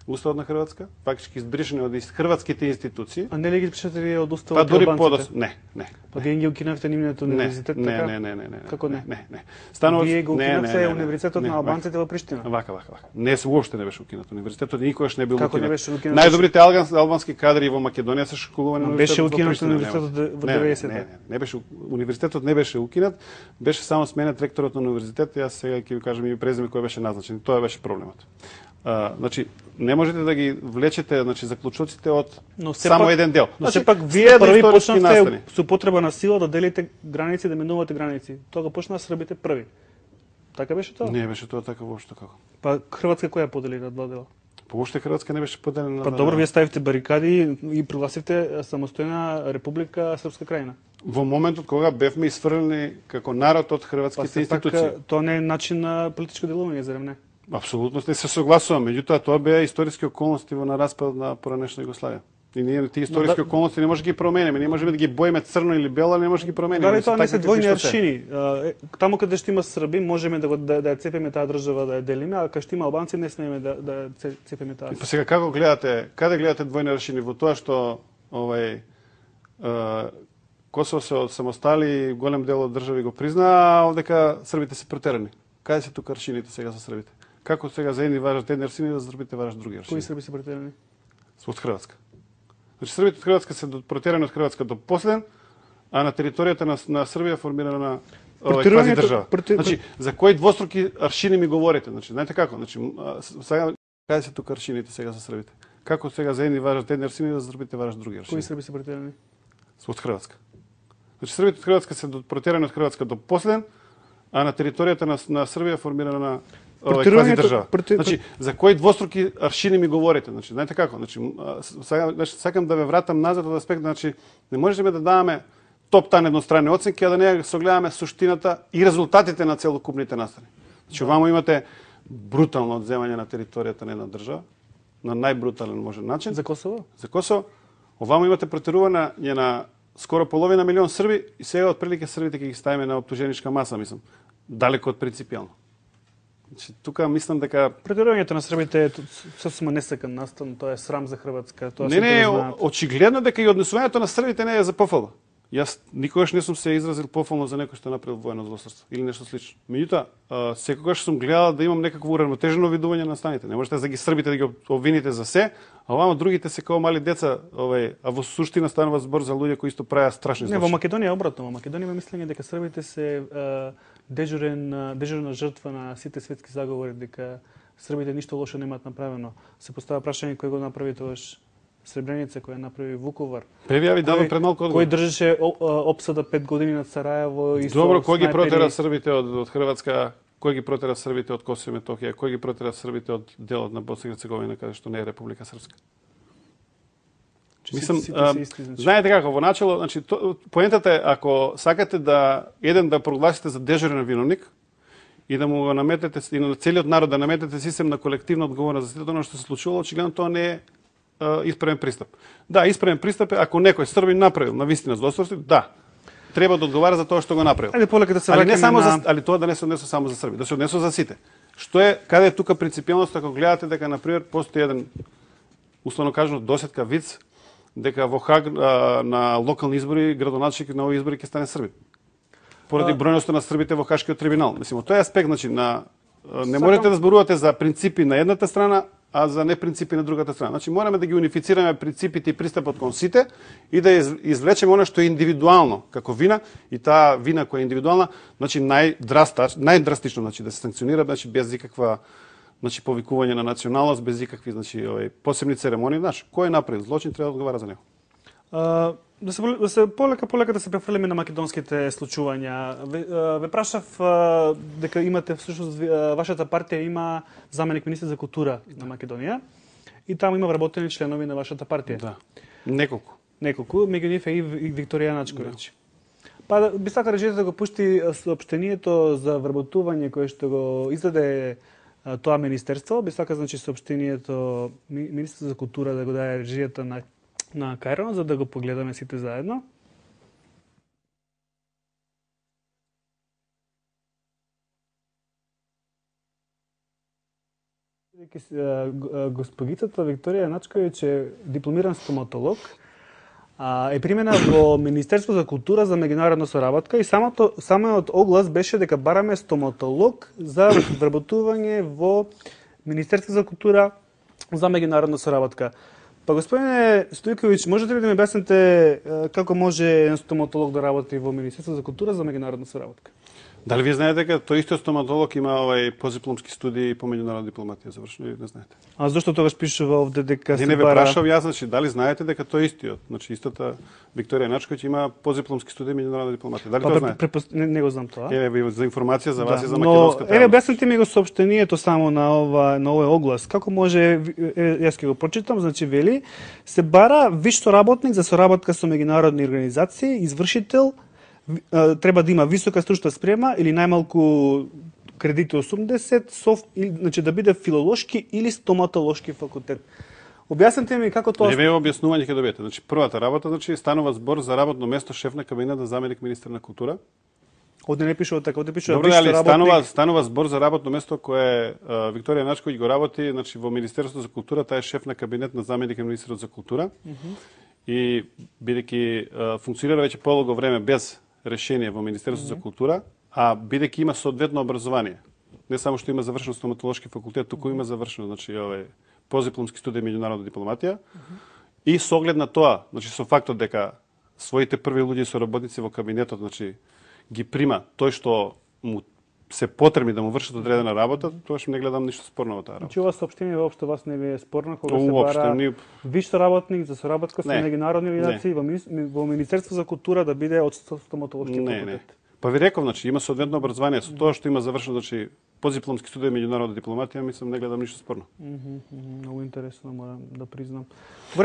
уставот на Хрватска, фактички избришани од хрватските институции. А не ли ги пишете вие од уставот па, на дури албанците? Подос... Не, не. Па вие ги укинавте нивниот универзитет, не, така? Не, не, не, не. Како не? Не, не. Станува... Вие го укинавте не, не, не, универзитетот не, на албанците во Приштина. Вака, вака, вака. Не, се уопште не беше укинат универзитетот, никогаш не бил Како укинат. не беше укинат? Најдобрите албански, албански кадри во Македонија се школувани на беше универзитетот во укинат Приштина. универзитетот во Не, деветдесетте. Не, не, не беше универзитетот не беше укинат, беше само сменет ректорот на универзитетот, јас сега ќе ви кажам и презиме кој беше назначен. Тоа беше проблемот. А, значи не можете да ги влечете, значи заклучоците од само пак, еден дел. Но Значи, сепак вие први почнавте настани. со потреба на сила да делите граници, да менувате граници. Тоа го почнаа србите први. Така беше тоа? Не беше тоа така воопшто како. Па Хрватска која подели на два дела? Воопшто Хрватска не беше поделена на Па добро, вие ставивте барикади и прогласивте самостојна Република Српска крајина. Во моментот кога бевме исфрлени како народ од хрватските па, институции. Па тоа не е начин на политичко делување, зарем не? Апсолутно не се согласувам, меѓутоа тоа беа историски околности во на распад на поранешна Југославија. И ние тие историски да, околности не може да ги промениме, не можеме да ги боиме црно или бело, не може да ги промениме. Дали тоа не се двојни аршини? Таму каде што има Срби, можеме да го да, да ја цепиме таа држава да ја делиме, а каде што има албанци не смееме да да цепиме таа. Па сега како гледате, каде гледате двојни аршини во тоа што овај Косово се самостали, голем дел од држави го признаа, а овдека србите се протерани. Каде се тука аршините сега за србите? Како сега за едни важат едни аршини, за србите важат други аршини? Кои срби се протерани? Од Хрватска. Значи србите од Хрватска се протерани од Хрватска до последен, а на територијата на, на Србија формирана на овај квази држава. Проти... Значи за кои двоструки аршини ми говорите? Значи знаете како? Значи сега каде се тука аршините сега за србите? Како сега за едни важат едни аршини, за србите важат други аршини? Кои срби се протерани? Од Хрватска. Значи србите од Хрватска се протерани од Хрватска до последен, а на територијата на, на Србија формирана на овај квази држава. Проти... Значи за кои двоструки аршини ми говорите? Значи знаете како? Значи сега значи, сакам да ве вратам назад од аспект, значи не можеме да даваме топ-тан едностранни оценки, а да не согледаме суштината и резултатите на целокупните настани. Значи овамо имате брутално одземање на територијата на една држава, на најбрутален можен начин. За Косово? За Косово. Овамо имате протерување на скоро половина милион срби и сега отприлike србите ќе ги ставиме на оптуженичка маса, мислам. Далеко од принципијално. Значи, тука мислам дека протерувањето на србите е сосема несекан настан, тоа е срам за Хрватска, тоа не, не, очигледно дека и однесувањето на србите не е за пофала. Јас никогаш не сум се изразил пофално за некој што направил воено злосторство или нешто слично. Меѓутоа, секогаш сум гледал да имам некакво уравнотежено видување на станите. Не можете за ги србите да ги обвините за се, а овамо другите се како мали деца, овај, а во суштина станува збор за луѓе кои исто правеа страшни злочини. Не, во Македонија е обратно. Во Македонија има мислење дека србите се а, дежурен дежурна жртва на сите светски заговори, дека србите ништо лошо немаат направено. Се поставува прашање кој го направи тогаш Сребреница, која направи Вуковар. Превија ви давам пред малку одговор. Кој држеше опсада пет години над Сараево и Добро, кој ги протера србите од, од Хрватска, кој ги протера србите од Косово и Метохија, кој ги протера србите од делот на Босна и Херцеговина, каде што не е Република Српска? Мислам, знаете како, во начело, значи, то, поентата е, ако сакате да, еден да прогласите за дежурен виновник, и да му го наметете, и на целиот народ да наметете систем на колективна одговорност за сето тоа што се случувало, очигледно тоа не е исправен пристап. Да, исправен пристап е ако некој србин направил на вистина злосторство, да. Треба да одговара за тоа што го направил. Ајде полека да се али не само на... за, али тоа да не се однесува само за срби, да се однесува за сите. Што е, каде е тука принципијалност ако гледате дека на пример постои еден условно кажано досетка виц дека во Хаг а, на локални избори градоначелник на овие избори ќе стане србин. Поради а... бројноста на србите во Хашкиот трибунал. Мислам, тоа е аспект, значи на не Сакам... можете да зборувате за принципи на едната страна, а за не принципи на другата страна. Значи мораме да ги унифицираме принципите и пристапот кон сите и да извлечеме она што е индивидуално како вина и таа вина која е индивидуална, значи најдрастично, најдрастично, значи да се санкционира, значи без никаква значи повикување на националност, без никакви значи овој посебни церемонии, значи кој е направил злочин треба да одговара за него. Uh, да се, да се полека полека да се префрлиме на македонските случувања. Ве, uh, ве прашав uh, дека имате всушност uh, вашата партија има заменик министер за култура на Македонија и таму има вработени членови на вашата партија. Да. Неколку. Неколку, меѓу нив е и, и Викторија Начковиќ. Да. Па би сака режите да го пушти соопштението за вработување кое што го издаде uh, тоа министерство, би сака значи соопштението министер за култура да го даде режијата на на Кајро, за да го погледаме сите заедно. Госпогицата Викторија Начковиќ е дипломиран стоматолог, е примена во Министерство за култура за меѓународна соработка и самото самиот оглас беше дека бараме стоматолог за вработување во Министерство за култура за меѓународна соработка. Па господине Стојковиќ, можете ли да ми објасните како може еден стоматолог да работи во Министерство за култура за меѓународна соработка? Дали вие знаете дека тој истиот стоматолог има овај позипломски студии по меѓународна дипломатија завршено или не знаете? А зошто тогаш пишува овде дека се бара? Не, не ве прашав јас, значи дали знаете дека тој истиот, значи истата Викторија Начковиќ има позипломски студии меѓународна дипломатија. Дали па, тоа знаете? Препост... Не, не го знам тоа. Еве за информација за вас да, и за македонската. Но еве објасните ми го соопштението само на ова на овој оглас. Како може јас ќе го прочитам, значи вели се бара виш соработник за соработка со меѓународни организации, извршител треба да има висока стручна спрема или најмалку кредити осумдесет, соф, или, значи да биде филолошки или стоматолошки факултет. Објаснете ми како тоа... Не ве објаснување ќе добиете. Значи, првата работа, значи, станува збор за работно место шеф на кабинет на заменик министер на култура. Овде не пишува така, овде пишува Добро, виш али работник. станува, станува збор за работно место кое а, Викторија Начковиќ го работи, значи, во Министерството за култура, таа е шеф на кабинет на заменик на министерот за култура. Mm -hmm. И бидејќи функционира веќе подолго време без решение во Министерството mm -hmm. за култура, а бидејќи има соодветно образование. Не само што има завршено стоматолошки факултет, туку има завршено, значи, овој позипломски студија меѓународна дипломатија. Mm -hmm. И со оглед на тоа, значи со фактот дека своите први луѓе со работници во кабинетот, значи ги прима тој што му се потребни да му вршат одредена работа, тоаш не гледам ништо спорно во таа работа. Значи ова соопштение воопшто вас не ви е спорно кога се Уопште, бара ни... виш соработник за соработка со Не. меѓународни организации во, мини- во Министерство за култура да биде од стоматолошки Не, факултет. не. Па ви реков, значи има соодветно образование, со тоа што има завршено, значи позипломски студија меѓународна дипломатија, мислам не гледам ништо спорно. Мгм, мгм, многу интересно, морам да признам.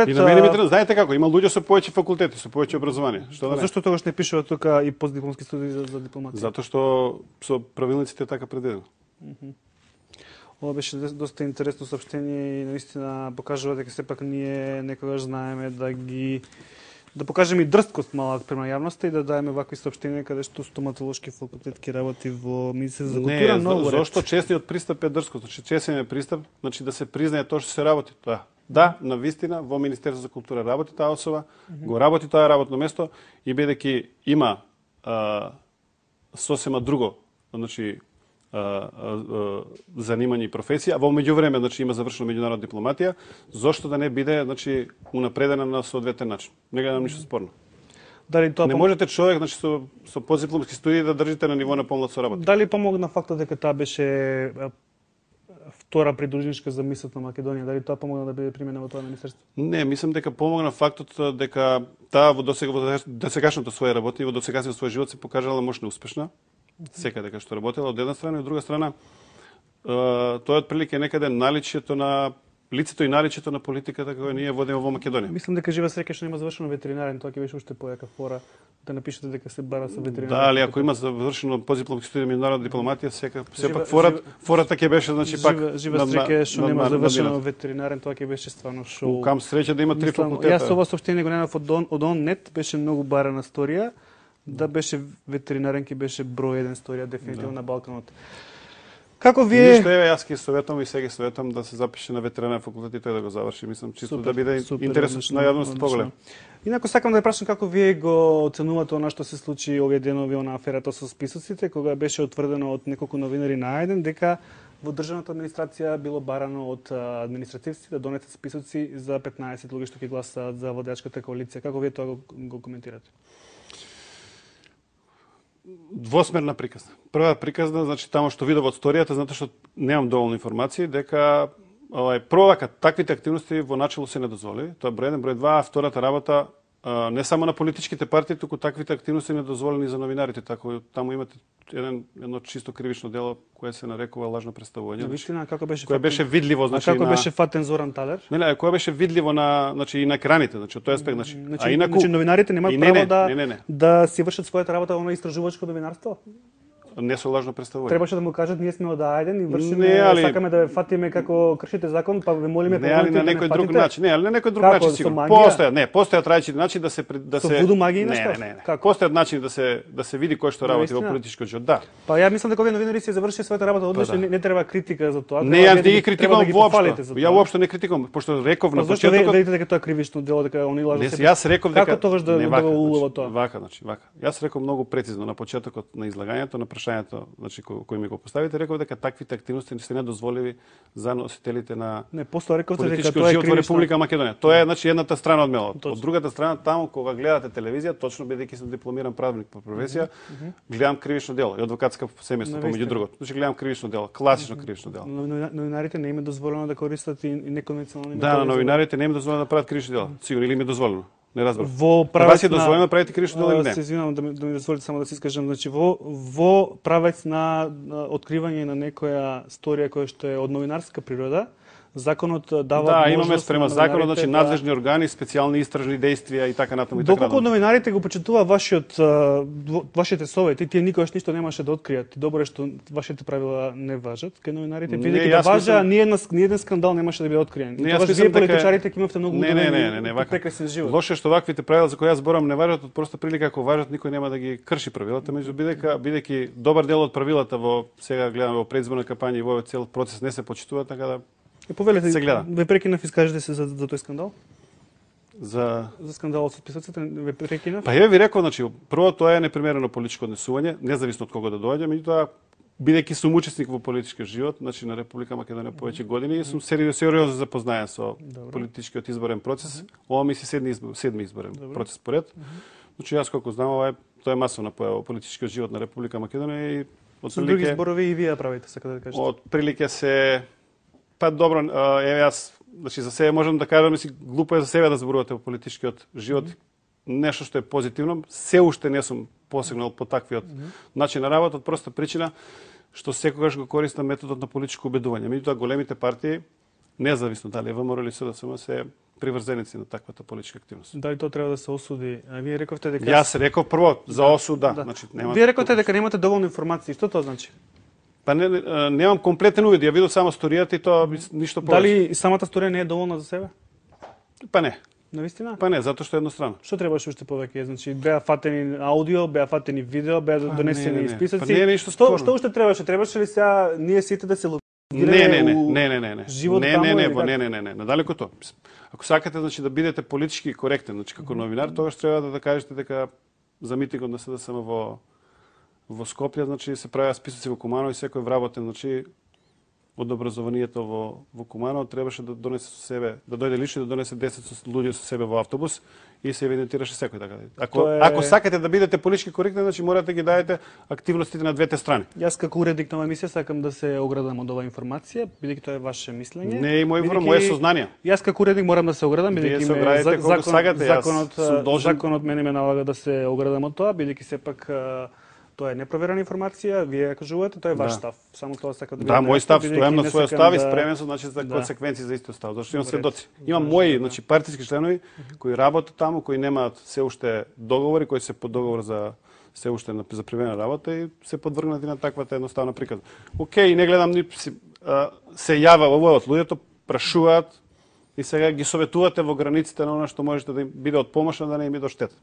И на мене ми треба, знаете како, има луѓе со повеќе факултети, со повеќе образование. Што да не? Зашто тогаш не пишува тука и постдипломски студии за, за дипломатија? Затоа што со правилниците е така предвидено. Ова беше доста интересно соопштение и наистина покажува дека сепак ние некогаш знаеме да ги да покажеме и дрсткост малку према јавноста и да даеме вакви соопштенија каде што стоматолошки факултет ќе работи во Министерство за култура, Не, многу за, ред. зошто честниот пристап е дрскост? Значи честниот пристап, значи да се признае тоа што се работи тоа. Да, на вистина во Министерство за култура работи таа особа, mm -hmm. го работи тоа работно место и бидејќи има а, сосема друго, значи а, а, а, занимање и професија, а во меѓувреме значи има завршено меѓународна дипломатија, зошто да не биде значи унапредена на соодветен начин? Не гледам ништо спорно. Дали тоа Не пом- можете човек значи со со позипломски студии да држите на ниво на помлад соработник. Дали помогна фактот дека таа беше а, втора придружничка за мисот на Македонија? Дали тоа помогна да биде примена во тоа министерство? Не, мислам дека помогна фактот дека таа во досега во досегашното своје работи, во досегашниот свој живот се покажала мощно успешна. Секаде кај што работела од една страна и од друга страна тоа е отприлике некаде наличјето на лицето и наличјето на политиката која ние водиме во Македонија. Мислам дека жива среќа што нема завршено ветеринарен, тоа ќе беше уште појака фора да напишете дека се бара со ветеринарен. Да, али ако има завршено позипломски студија меѓународна дипломатија, сека Жива- сепак фора жива- фората ќе беше значи пак Жива, жива на- на- среќа што на- нема на- завршено на- ветеринарен, тоа ќе беше стварно шоу. Кам среќа да има три Мислам, факултета. Јас ова соопштение го најдов од он, од он нет, беше многу барана сторија, да беше ветеринарен ќе беше број еден сторија дефинитивно на Балканот. Како вие Ништо еве јас ќе советувам и сега ќе советувам да се запише на ветеринарен факултет и тој да го заврши, мислам чисто Супер, да биде супер, интересот одлично, на јавноста одлично. поголем. Инаку сакам да ја прашам како вие го оценувате она што се случи овие денови на аферата со списоците, кога беше утврдено од неколку новинари на еден дека во државната администрација било барано од а, административци да донесат списоци за петнаесет луѓе што ќе гласаат за владеачката коалиција. Како вие тоа го, го коментирате? Двосмерна приказна. Прва приказна, значи тамо што видов од сторијата, затоа што немам доволно информации, дека овај прво вака таквите активности во начело се не дозволи. Тоа е број еден, број два, а втората работа а, не само на политичките партии, туку таквите активности не дозволени за новинарите, така таму имате еден едно чисто кривично дело кое се нарекува лажно представување. На вистина како беше Кое фатен- беше видливо, А значи како на беше фатен Зоран Талер? Нели, кое беше видливо на, значи и на екраните, значи од тој аспект, значи. Значи, а инаку значи новинарите немаат и не, право не, да не, не, не. да си вршат својата работа во истражувачко новинарство? Не со лажно представување. Требаше да му кажат ние сме од Ајден и вршиме, Не, али- сакаме да ве фатиме како кршите закон, па ве молиме Не, али на помогнете да не некој друг фатите. начин. Не, али на некој друг Како, начин со сигурно. магија? Постојат, не, постојат различити начини да се при- да Со се вуду магија и Не, нешто? не, не, не. Како? Постојат начини да се да се види кој што работи во Наистина? политичкиот живот. Да. Па ја мислам дека овие новинари си завршија својата работа одлично, да. не, не треба критика за тоа. Не, Треба јас вие не ги треба критикувам да ги воопшто. похвалите за Ја тоа. воопшто не критикувам, пошто реков на Па зашто ве- почетокот. велите дека тоа е кривично дело, дека они лажат Не, себе? јас реков дека Како тогаш да, не, да вака, го улова значи, тоа? Вака, значи, вака. Јас реков многу прецизно на почетокот на излагањето, на прашањето, значи кој, кој ми го поставите, реков дека таквите активности се недозволиви за носителите на Не, после рековте дека политичкиот тоа е живот во кривично. Република Македонија. Тоа е значи едната страна од мелот. Точно. Од другата страна таму кога гледате телевизија, точно бидејќи сум дипломиран правник по професија, гледам кривично дело и адвокатска семејство помеѓу Навистина. другото. Значи гледам кривично дело, класично кривично дело. Но- Новинарите не им е дозволено да користат и и неконвенционални Да, на методи за- новинарите не им дозволено да прават кривично дело. Сигурно или им е дозволено. Не разбрав. Во Правец правец е дозволено да правите кривично дело или не? Се извинувам да ми, да ми дозволите само да се искажам, значи во во правец на, на откривање на некоја сторија која што е од новинарска природа, законот дава Да, можност имаме спрема на законот, новинарите значи да- надлежни органи, специјални истражни действија и така натаму и така Доколку натаму. новинарите го почитува вашиот а, во- вашите совети, тие никогаш ништо немаше да откријат. Добро е што вашите правила не важат кај новинарите, Не, бидејќи да јас важа, мислам- ни една ни еден скандал немаше да биде откриен. Не, И јас тогаш мислам вие дека- политичарите ќе имавте многу Не, не, удобен не, не, не, и вака. прекрасен живот. Лошо е што ваквите правила за кои јас зборам не важат од проста прилика, ако важат никој нема да ги крши правилата, меѓу бидејќи бидејќи добар дел од правилата во сега гледаме во предизборна кампања и во овој цел процес не се почитува, така да Е, повелете, се гледа. ве прекинав, искажете се за, за тој скандал? за За скандалот со списоците, ве прекинав? Па ја ви рекол, значи, прво тоа е непримерено политичко однесување, независно од кого да доаѓа, меѓутоа бидејќи сум учесник во политички живот, значи на Република Македонија повеќе години и сум сериозно сериозно запознаен со Добро. политичкиот изборен процес. Ова ми се седми избор, седми изборен Добро. процес поред. Значи јас колку знам, ова е тоа е масовна појава во политичкиот живот на Република Македонија и од Со други зборови и вие ја правите, сака да кажете. од прилike се па добро, а, еве јас значи за себе можам да кажам, мисли глупо е за себе да зборувате во политичкиот живот. Mm -hmm. Нешто што е позитивно, се уште не сум посегнал по таквиот mm -hmm. начин на работа од проста причина што секогаш го користам методот на политичко убедување. Меѓутоа големите партии, независно дали е ВМРО или СДСМ, се приврзеници на таквата политичка активност. Дали тоа треба да се осуди? А вие рековте дека Јас реков прво за осуд, да, да. значи нема. Вие рековте дека немате доволно информации. Што тоа значи? Па не, не, немам комплетен увид, ја видов само сторијата и тоа ништо повеќе. Дали самата сторија не е доволна за себе? Па не. Навистина? Па не, затоа што е еднострано. Што требаше уште повеќе? Значи беа фатени аудио, беа фатени видео, беа Па, донесени не, не, не. списоци. Па не е ништо што, спорно. што уште требаше? Требаше ли сега ние сите да се Не, не, не, не, не, не, не. живот не, таму не, не, или во, како? не, не, не, не, надалеку тоа. Мислам, ако сакате значи да бидете политички коректен, значи како новинар, тогаш треба да, да кажете дека за митингот на СДСМ во во Скопје, значи се правеа списоци во Куманово и секој вработен, значи од образованието во во Куманово требаше да донесе со себе, да дојде лично да донесе десет луѓе со себе во автобус и се евидентираше секој така. Ако Тоа е- ако сакате да бидете политички коректни, значи морате да ги дадете активностите на двете страни. Јас како уредник на оваа емисија сакам да се оградам од оваа информација, бидејќи тоа е ваше мислење. Не е мој Бидејќи моје сознание. Јас како уредник морам да се оградам, Вие бидејќи се ме оградите за- колку сакате, јас законот сум должен- законот мене ме налага да се оградам од тоа, бидејќи сепак а, тоа е непроверена информација, вие ја кажувате, тоа е ваш Да. став. Само тоа сакам да Да, мој став, стојам на својот став и да... спремен сум значи за Да. консеквенции за истиот став, зашто имам Во ред. сведоци. Имам Важно, мои, да. значи партиски членови кои работат таму, кои немаат се уште договори, кои се под договор за се уште на за привремена работа и се подвргнати на таквата едноставна приказна. Океј, не гледам ни си, а, се јава овој од луѓето, прашуваат и сега ги советувате во границите на она што можете да им биде од помош, а да не им биде од штета.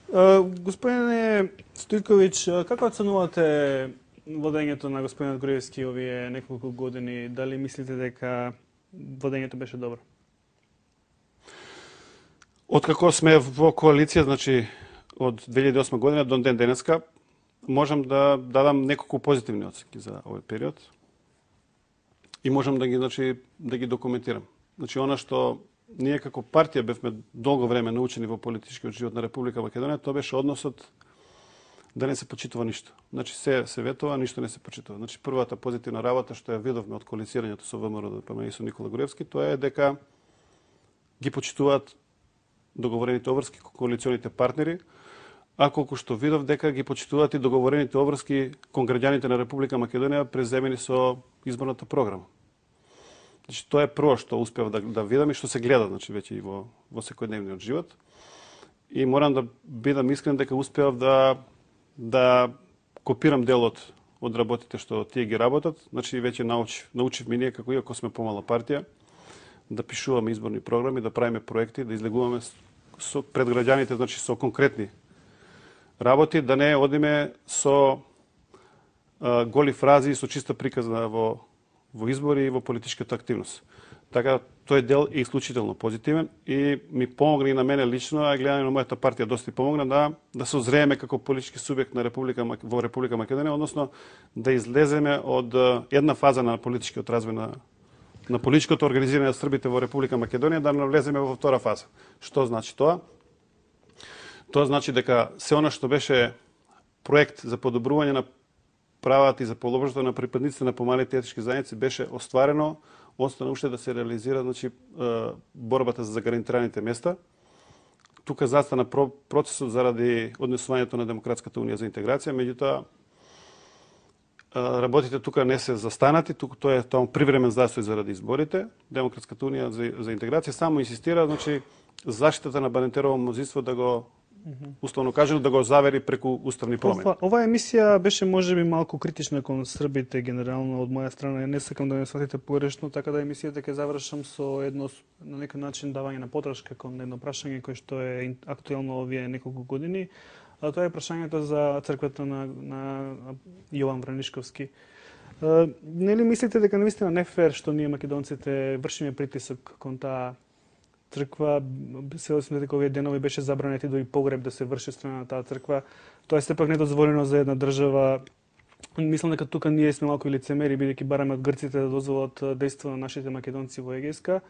Uh, господине Стојковиќ, а, како оценувате водењето на господинот Груевски овие неколку години? Дали мислите дека водењето беше добро? Откако сме во коалиција, значи од две илјади и осма година до ден денеска, можам да дадам неколку позитивни оценки за овој период. И можам да ги, значи, да ги документирам. Значи, она што ние како партија бевме долго време научени во политичкиот живот на Република Македонија, тоа беше односот да не се почитува ништо. Значи, се се ветува, ништо не се почитува. Значи, првата позитивна работа што ја видовме од коалицирањето со ВМРО ДПМ и со Никола Груевски, тоа е дека ги почитуваат договорените обврски коалиционите партнери, а колку што видов дека ги почитуваат и договорените обврски кон граѓаните на Република Македонија преземени со изборната програма. Значи, тоа е прво што успев да, да видам и што се гледа, значи, веќе и во, во секојдневниот живот. И морам да бидам искрен дека успеав да, да копирам делот од работите што тие ги работат. Значи, веќе научив, научив ми ние, како иако сме помала партија, да пишуваме изборни програми, да правиме проекти, да излегуваме со, пред граѓаните, значи, со конкретни работи, да не одиме со а, голи фрази и со чиста приказна во во избори и во политичката активност. Така, тој дел е исклучително позитивен и ми помогна и на мене лично, а гледаме на мојата партија доста и помогна да да се озрееме како политички субјект на Република во Република Македонија, односно да излеземе од една фаза на политичкиот развој на на политичкото организирање на србите во Република Македонија, да навлеземе во втора фаза. Што значи тоа? Тоа значи дека се она што беше проект за подобрување на правата и за положението на припадниците на помалите етнички заедници беше остварено, остана уште да се реализира, значи борбата за гарантираните места, тука застана процесот заради однесувањето на Демократската унија за интеграција, меѓутоа работите тука не се застанати, тука тоа е тоа привремен застој заради изборите. Демократската унија за, за интеграција само инсистира, значи заштитата на Банетерово мнозинство да го условно кажано да го завери преку уставни промени. Ова, ова емисија беше можеби малку критична кон србите генерално од моја страна. Не сакам да ме сватите погрешно, така да емисијата ќе завршам со едно на некој начин давање на подршка кон едно прашање кое што е актуелно овие неколку години. А тоа е прашањето за црквата на, на Јован Вранишковски. А, нели мислите дека навистина не фер што ние македонците вршиме притисок кон таа црква? Се осмете дека овие денови беше забранети дури погреб да се врши страна на таа црква. Тоа е сепак недозволено за една држава. Мислам дека тука ние сме малку лицемери, бидејќи бараме од грците да дозволат дејство на нашите македонци во Егејска.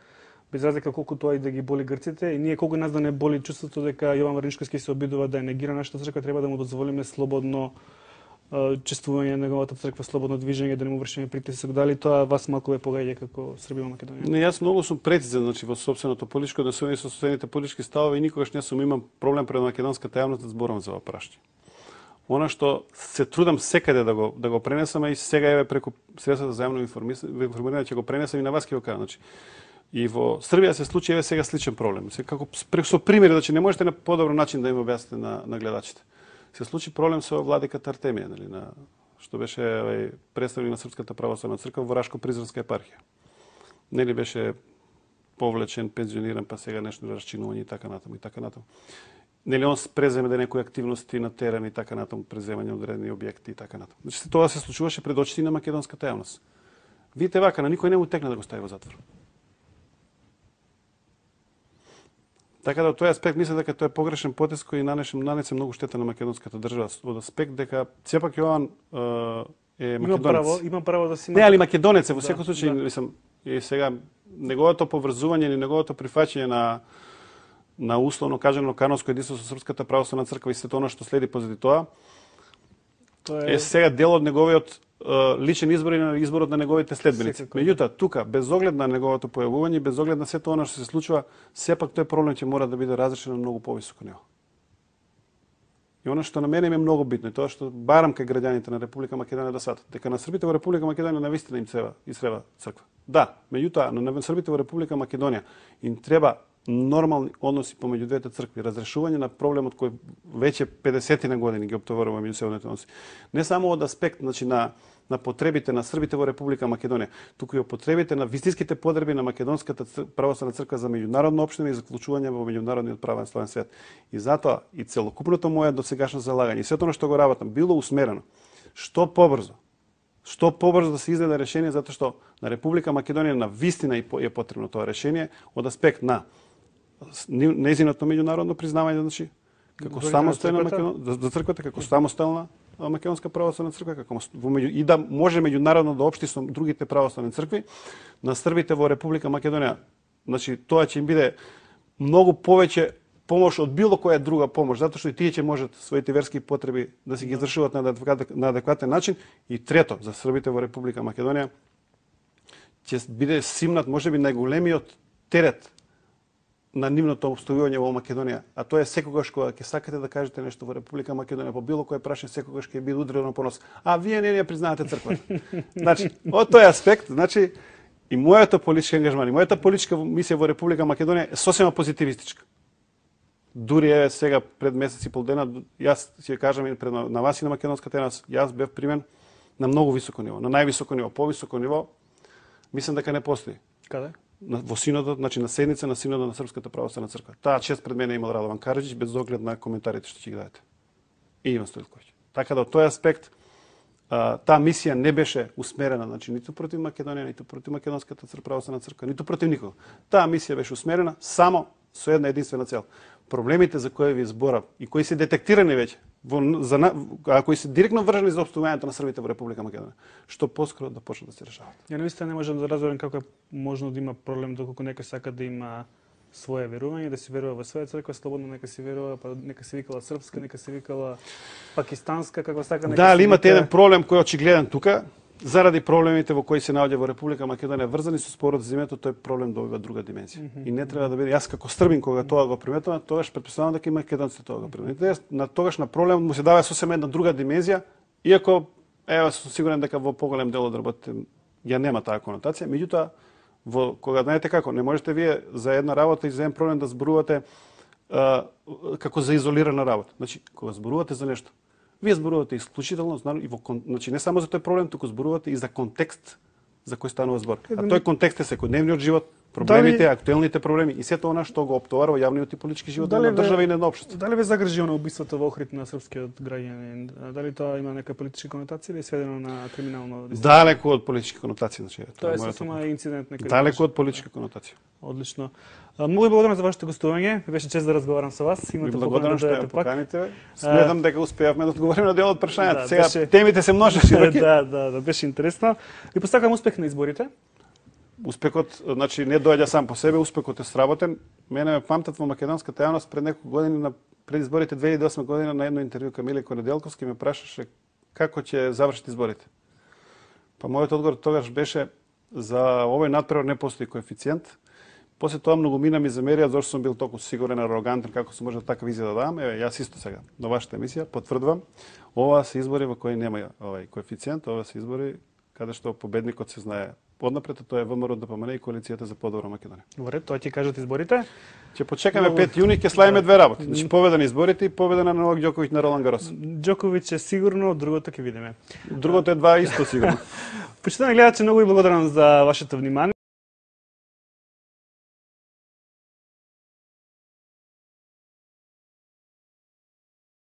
Без разлика колку тоа и да ги боли грците, и ние колку нас да не боли чувството дека Јован Вранишковски се обидува да ја негира нашата црква, треба да му дозволиме слободно чествување на неговата црква, слободно движење, да не му вршиме притисок. Дали тоа вас малку ве погаѓа како Србија во Македонија? Не, јас многу сум прецизен, значи во сопственото политичко однесување со сопствените политички ставови и никогаш не сум имам проблем пред македонската јавност да зборам за ова прашање. Она што се трудам секаде да го да го пренесам, и сега еве преку средствата за јавно информирање ќе го пренесам и на вас ќе го кажам, значи и во Србија се случи еве сега сличен проблем. Се како со примери, значи не можете на подобро начин да им објасните на на гледачите. Се случи проблем со владиката Артемија, нели, на што беше овај представник на Српската православна црква во Рашко-Призранска епархија. Нели беше повлечен, пензиониран, па сега нешто расчинување и така натаму и така натаму. Нели он преземе да некои активности на терен и така натаму, преземање одредени објекти и така натаму. Значи тоа се случуваше пред очите на македонската јавност. Видите вака, на никој не му текна да го стави во затвор. Така да од тој аспект мислам дека тоа е погрешен потез кој нанесе нанесе многу штета на македонската држава, од аспект дека сепак Јован е македонец. Има право, има право да си Не, али македонец е во секој да, случај, да. мислам, и сега неговото поврзување или неговото прифаќање на на условно кажано канонско единство со Српската православна црква и сето она што следи позади тоа, Тоа е сега дел од неговиот личен избор и на изборот на неговите следбеници. Меѓутоа, тука, без оглед на неговото појавување, без оглед на сето она што се случува, сепак тој проблем ќе мора да биде разрешен на многу повисоко ниво. И она што на мене е многу битно, тоа што барам кај граѓаните на Република Македонија да сватат, дека на србите во Република Македонија навистина им треба и треба црква. Да, меѓутоа, на србите во Република Македонија им треба нормални односи помеѓу двете цркви, разрешување на проблемот кој веќе педесетина години ги оптоварува меѓусебните односи. Не само од аспект, значи на на потребите на србите во Република Македонија, туку и од потребите на вистинските подреби на македонската православна црква за меѓународно општина и за вклучување во меѓународниот правен славен свет. И затоа и целокупното моје досегашно залагање, и сето оно што го работам, било усмерено што побрзо, што побрзо да се издаде решение, затоа што на Република Македонија на вистина е потребно тоа решение од аспект на нејзиното меѓународно признавање, значи како самостојна македонска за црквата, како самостојна македонска православна црква, како во меѓу и да може меѓународно да општи со другите православни цркви на србите во Република Македонија. Значи тоа ќе им биде многу повеќе помош од било која друга помош, затоа што и тие ќе можат своите верски потреби да си ги извршуваат на адекватен, на адекватен начин. И трето, за србите во Република Македонија ќе биде симнат можеби најголемиот терет на нивното обстојување во Македонија, а тоа е секогаш кога ќе сакате да кажете нешто во Република Македонија, по било кој прашање секогаш ќе биде удрено по нос. А вие не ја признавате црквата. Значи, од тој аспект, значи и мојата политичка ангажман, и мојата политичка мисија во Република Македонија е сосема позитивистичка. Дури е сега пред месец и пол дена, јас ќе кажам и пред на вас и на македонската јавност, јас бев примен на многу високо ниво, на највисоко ниво, повисоко ниво, мислам дека не постои. Каде? На, во синодот, значи на седница на синодот на Српската православна црква. Таа чест пред мене имал Радован Караџич, без оглед на коментарите што ќе ги дадете. И Иван Стојковиќ. Така да од тој аспект а, таа мисија не беше усмерена, значи ниту против Македонија, ниту против Македонската православна црква, ниту против никого. Таа мисија беше усмерена само со една единствена цел. Проблемите за кои ви зборав и кои се детектирани веќе, во, за, а кои се директно врзани за обстојувањето на србите во Република Македонија, што поскоро да почнат да се решават. Ја навистина не можам да разберам како е можно да има проблем доколку некој сака да има свое верување, да си верува во своја црква, слободно нека си верува, па нека се викала српска, нека се викала пакистанска, како сака нека. Да, али си имате вика... еден проблем кој е очигледен тука, заради проблемите во кои се наоѓа во Република Македонија врзани со спорот за земјата, тој проблем добива друга димензија. Mm -hmm. И не треба да биде, јас како србин кога тоа го приметувам, тогаш претпоставувам дека и македонците тоа го приметуваат. На тогаш на проблем му се дава сосема една друга димензија, иако ева сум сигурен дека во поголем дел од работите ја нема таа конотација, меѓутоа во кога знаете како, не можете вие за една работа и за еден проблем да зборувате а, како за изолирана работа. Значи, кога зборувате за нешто, вие зборувате исклучително, и во, значи не само за тој проблем, туку зборувате и за контекст за кој станува збор. А тој контекст е секојдневниот живот, проблемите, дали, актуелните проблеми и сето она што го оптоварува јавниот и политички живот на држава и на општество. Дали ве загрижи на убиството во Охрид на српскиот граѓанин? Дали тоа има нека политичка конотација или е сведено на криминално дисциплина? Далеку од политички конотации, значи. Тоа е сосема инцидент нека. Далеку од политичка конотација. Одлично. Многу ви благодарам за вашето гостување. Беше чест да разговарам со вас. Имате покана да дојдете пак. Поканите. Сметам дека успеавме да одговориме на дел од прашањата. Да, сега беше... темите се множи широки. да, да, да, беше интересно. И посакам успех на изборите. Успехот, значи, не доаѓа сам по себе, успехот е сработен. Мене ме памтат во македонската јавност пред неколку години на пред изборите две илјади и осма година на едно интервју Камиле Неделковски ме прашаше како ќе завршат изборите. Па мојот одговор тогаш беше за овој надпревар не постои коефициент. После тоа многу мина ми замерија зашто сум бил толку сигурен, арогантен како се може така визија да дам. Еве, јас исто сега на вашата емисија потврдувам, ова се избори во кои нема овај коефициент, ова се избори каде што победникот се знае однапред, тоа е ВМРО ДПМН и коалицијата за подобра Македонија. Добре, тоа ќе кажат изборите. Ќе почекаме пет јуни, ќе славиме две работи. Значи победа на изборите и победа на Новак Ѓоковиќ на Ролан Гарос. Ѓоковиќ е сигурно, другото ќе видиме. Другото е два исто сигурно. Почитувани гледачи, многу ви благодарам за вашето внимание.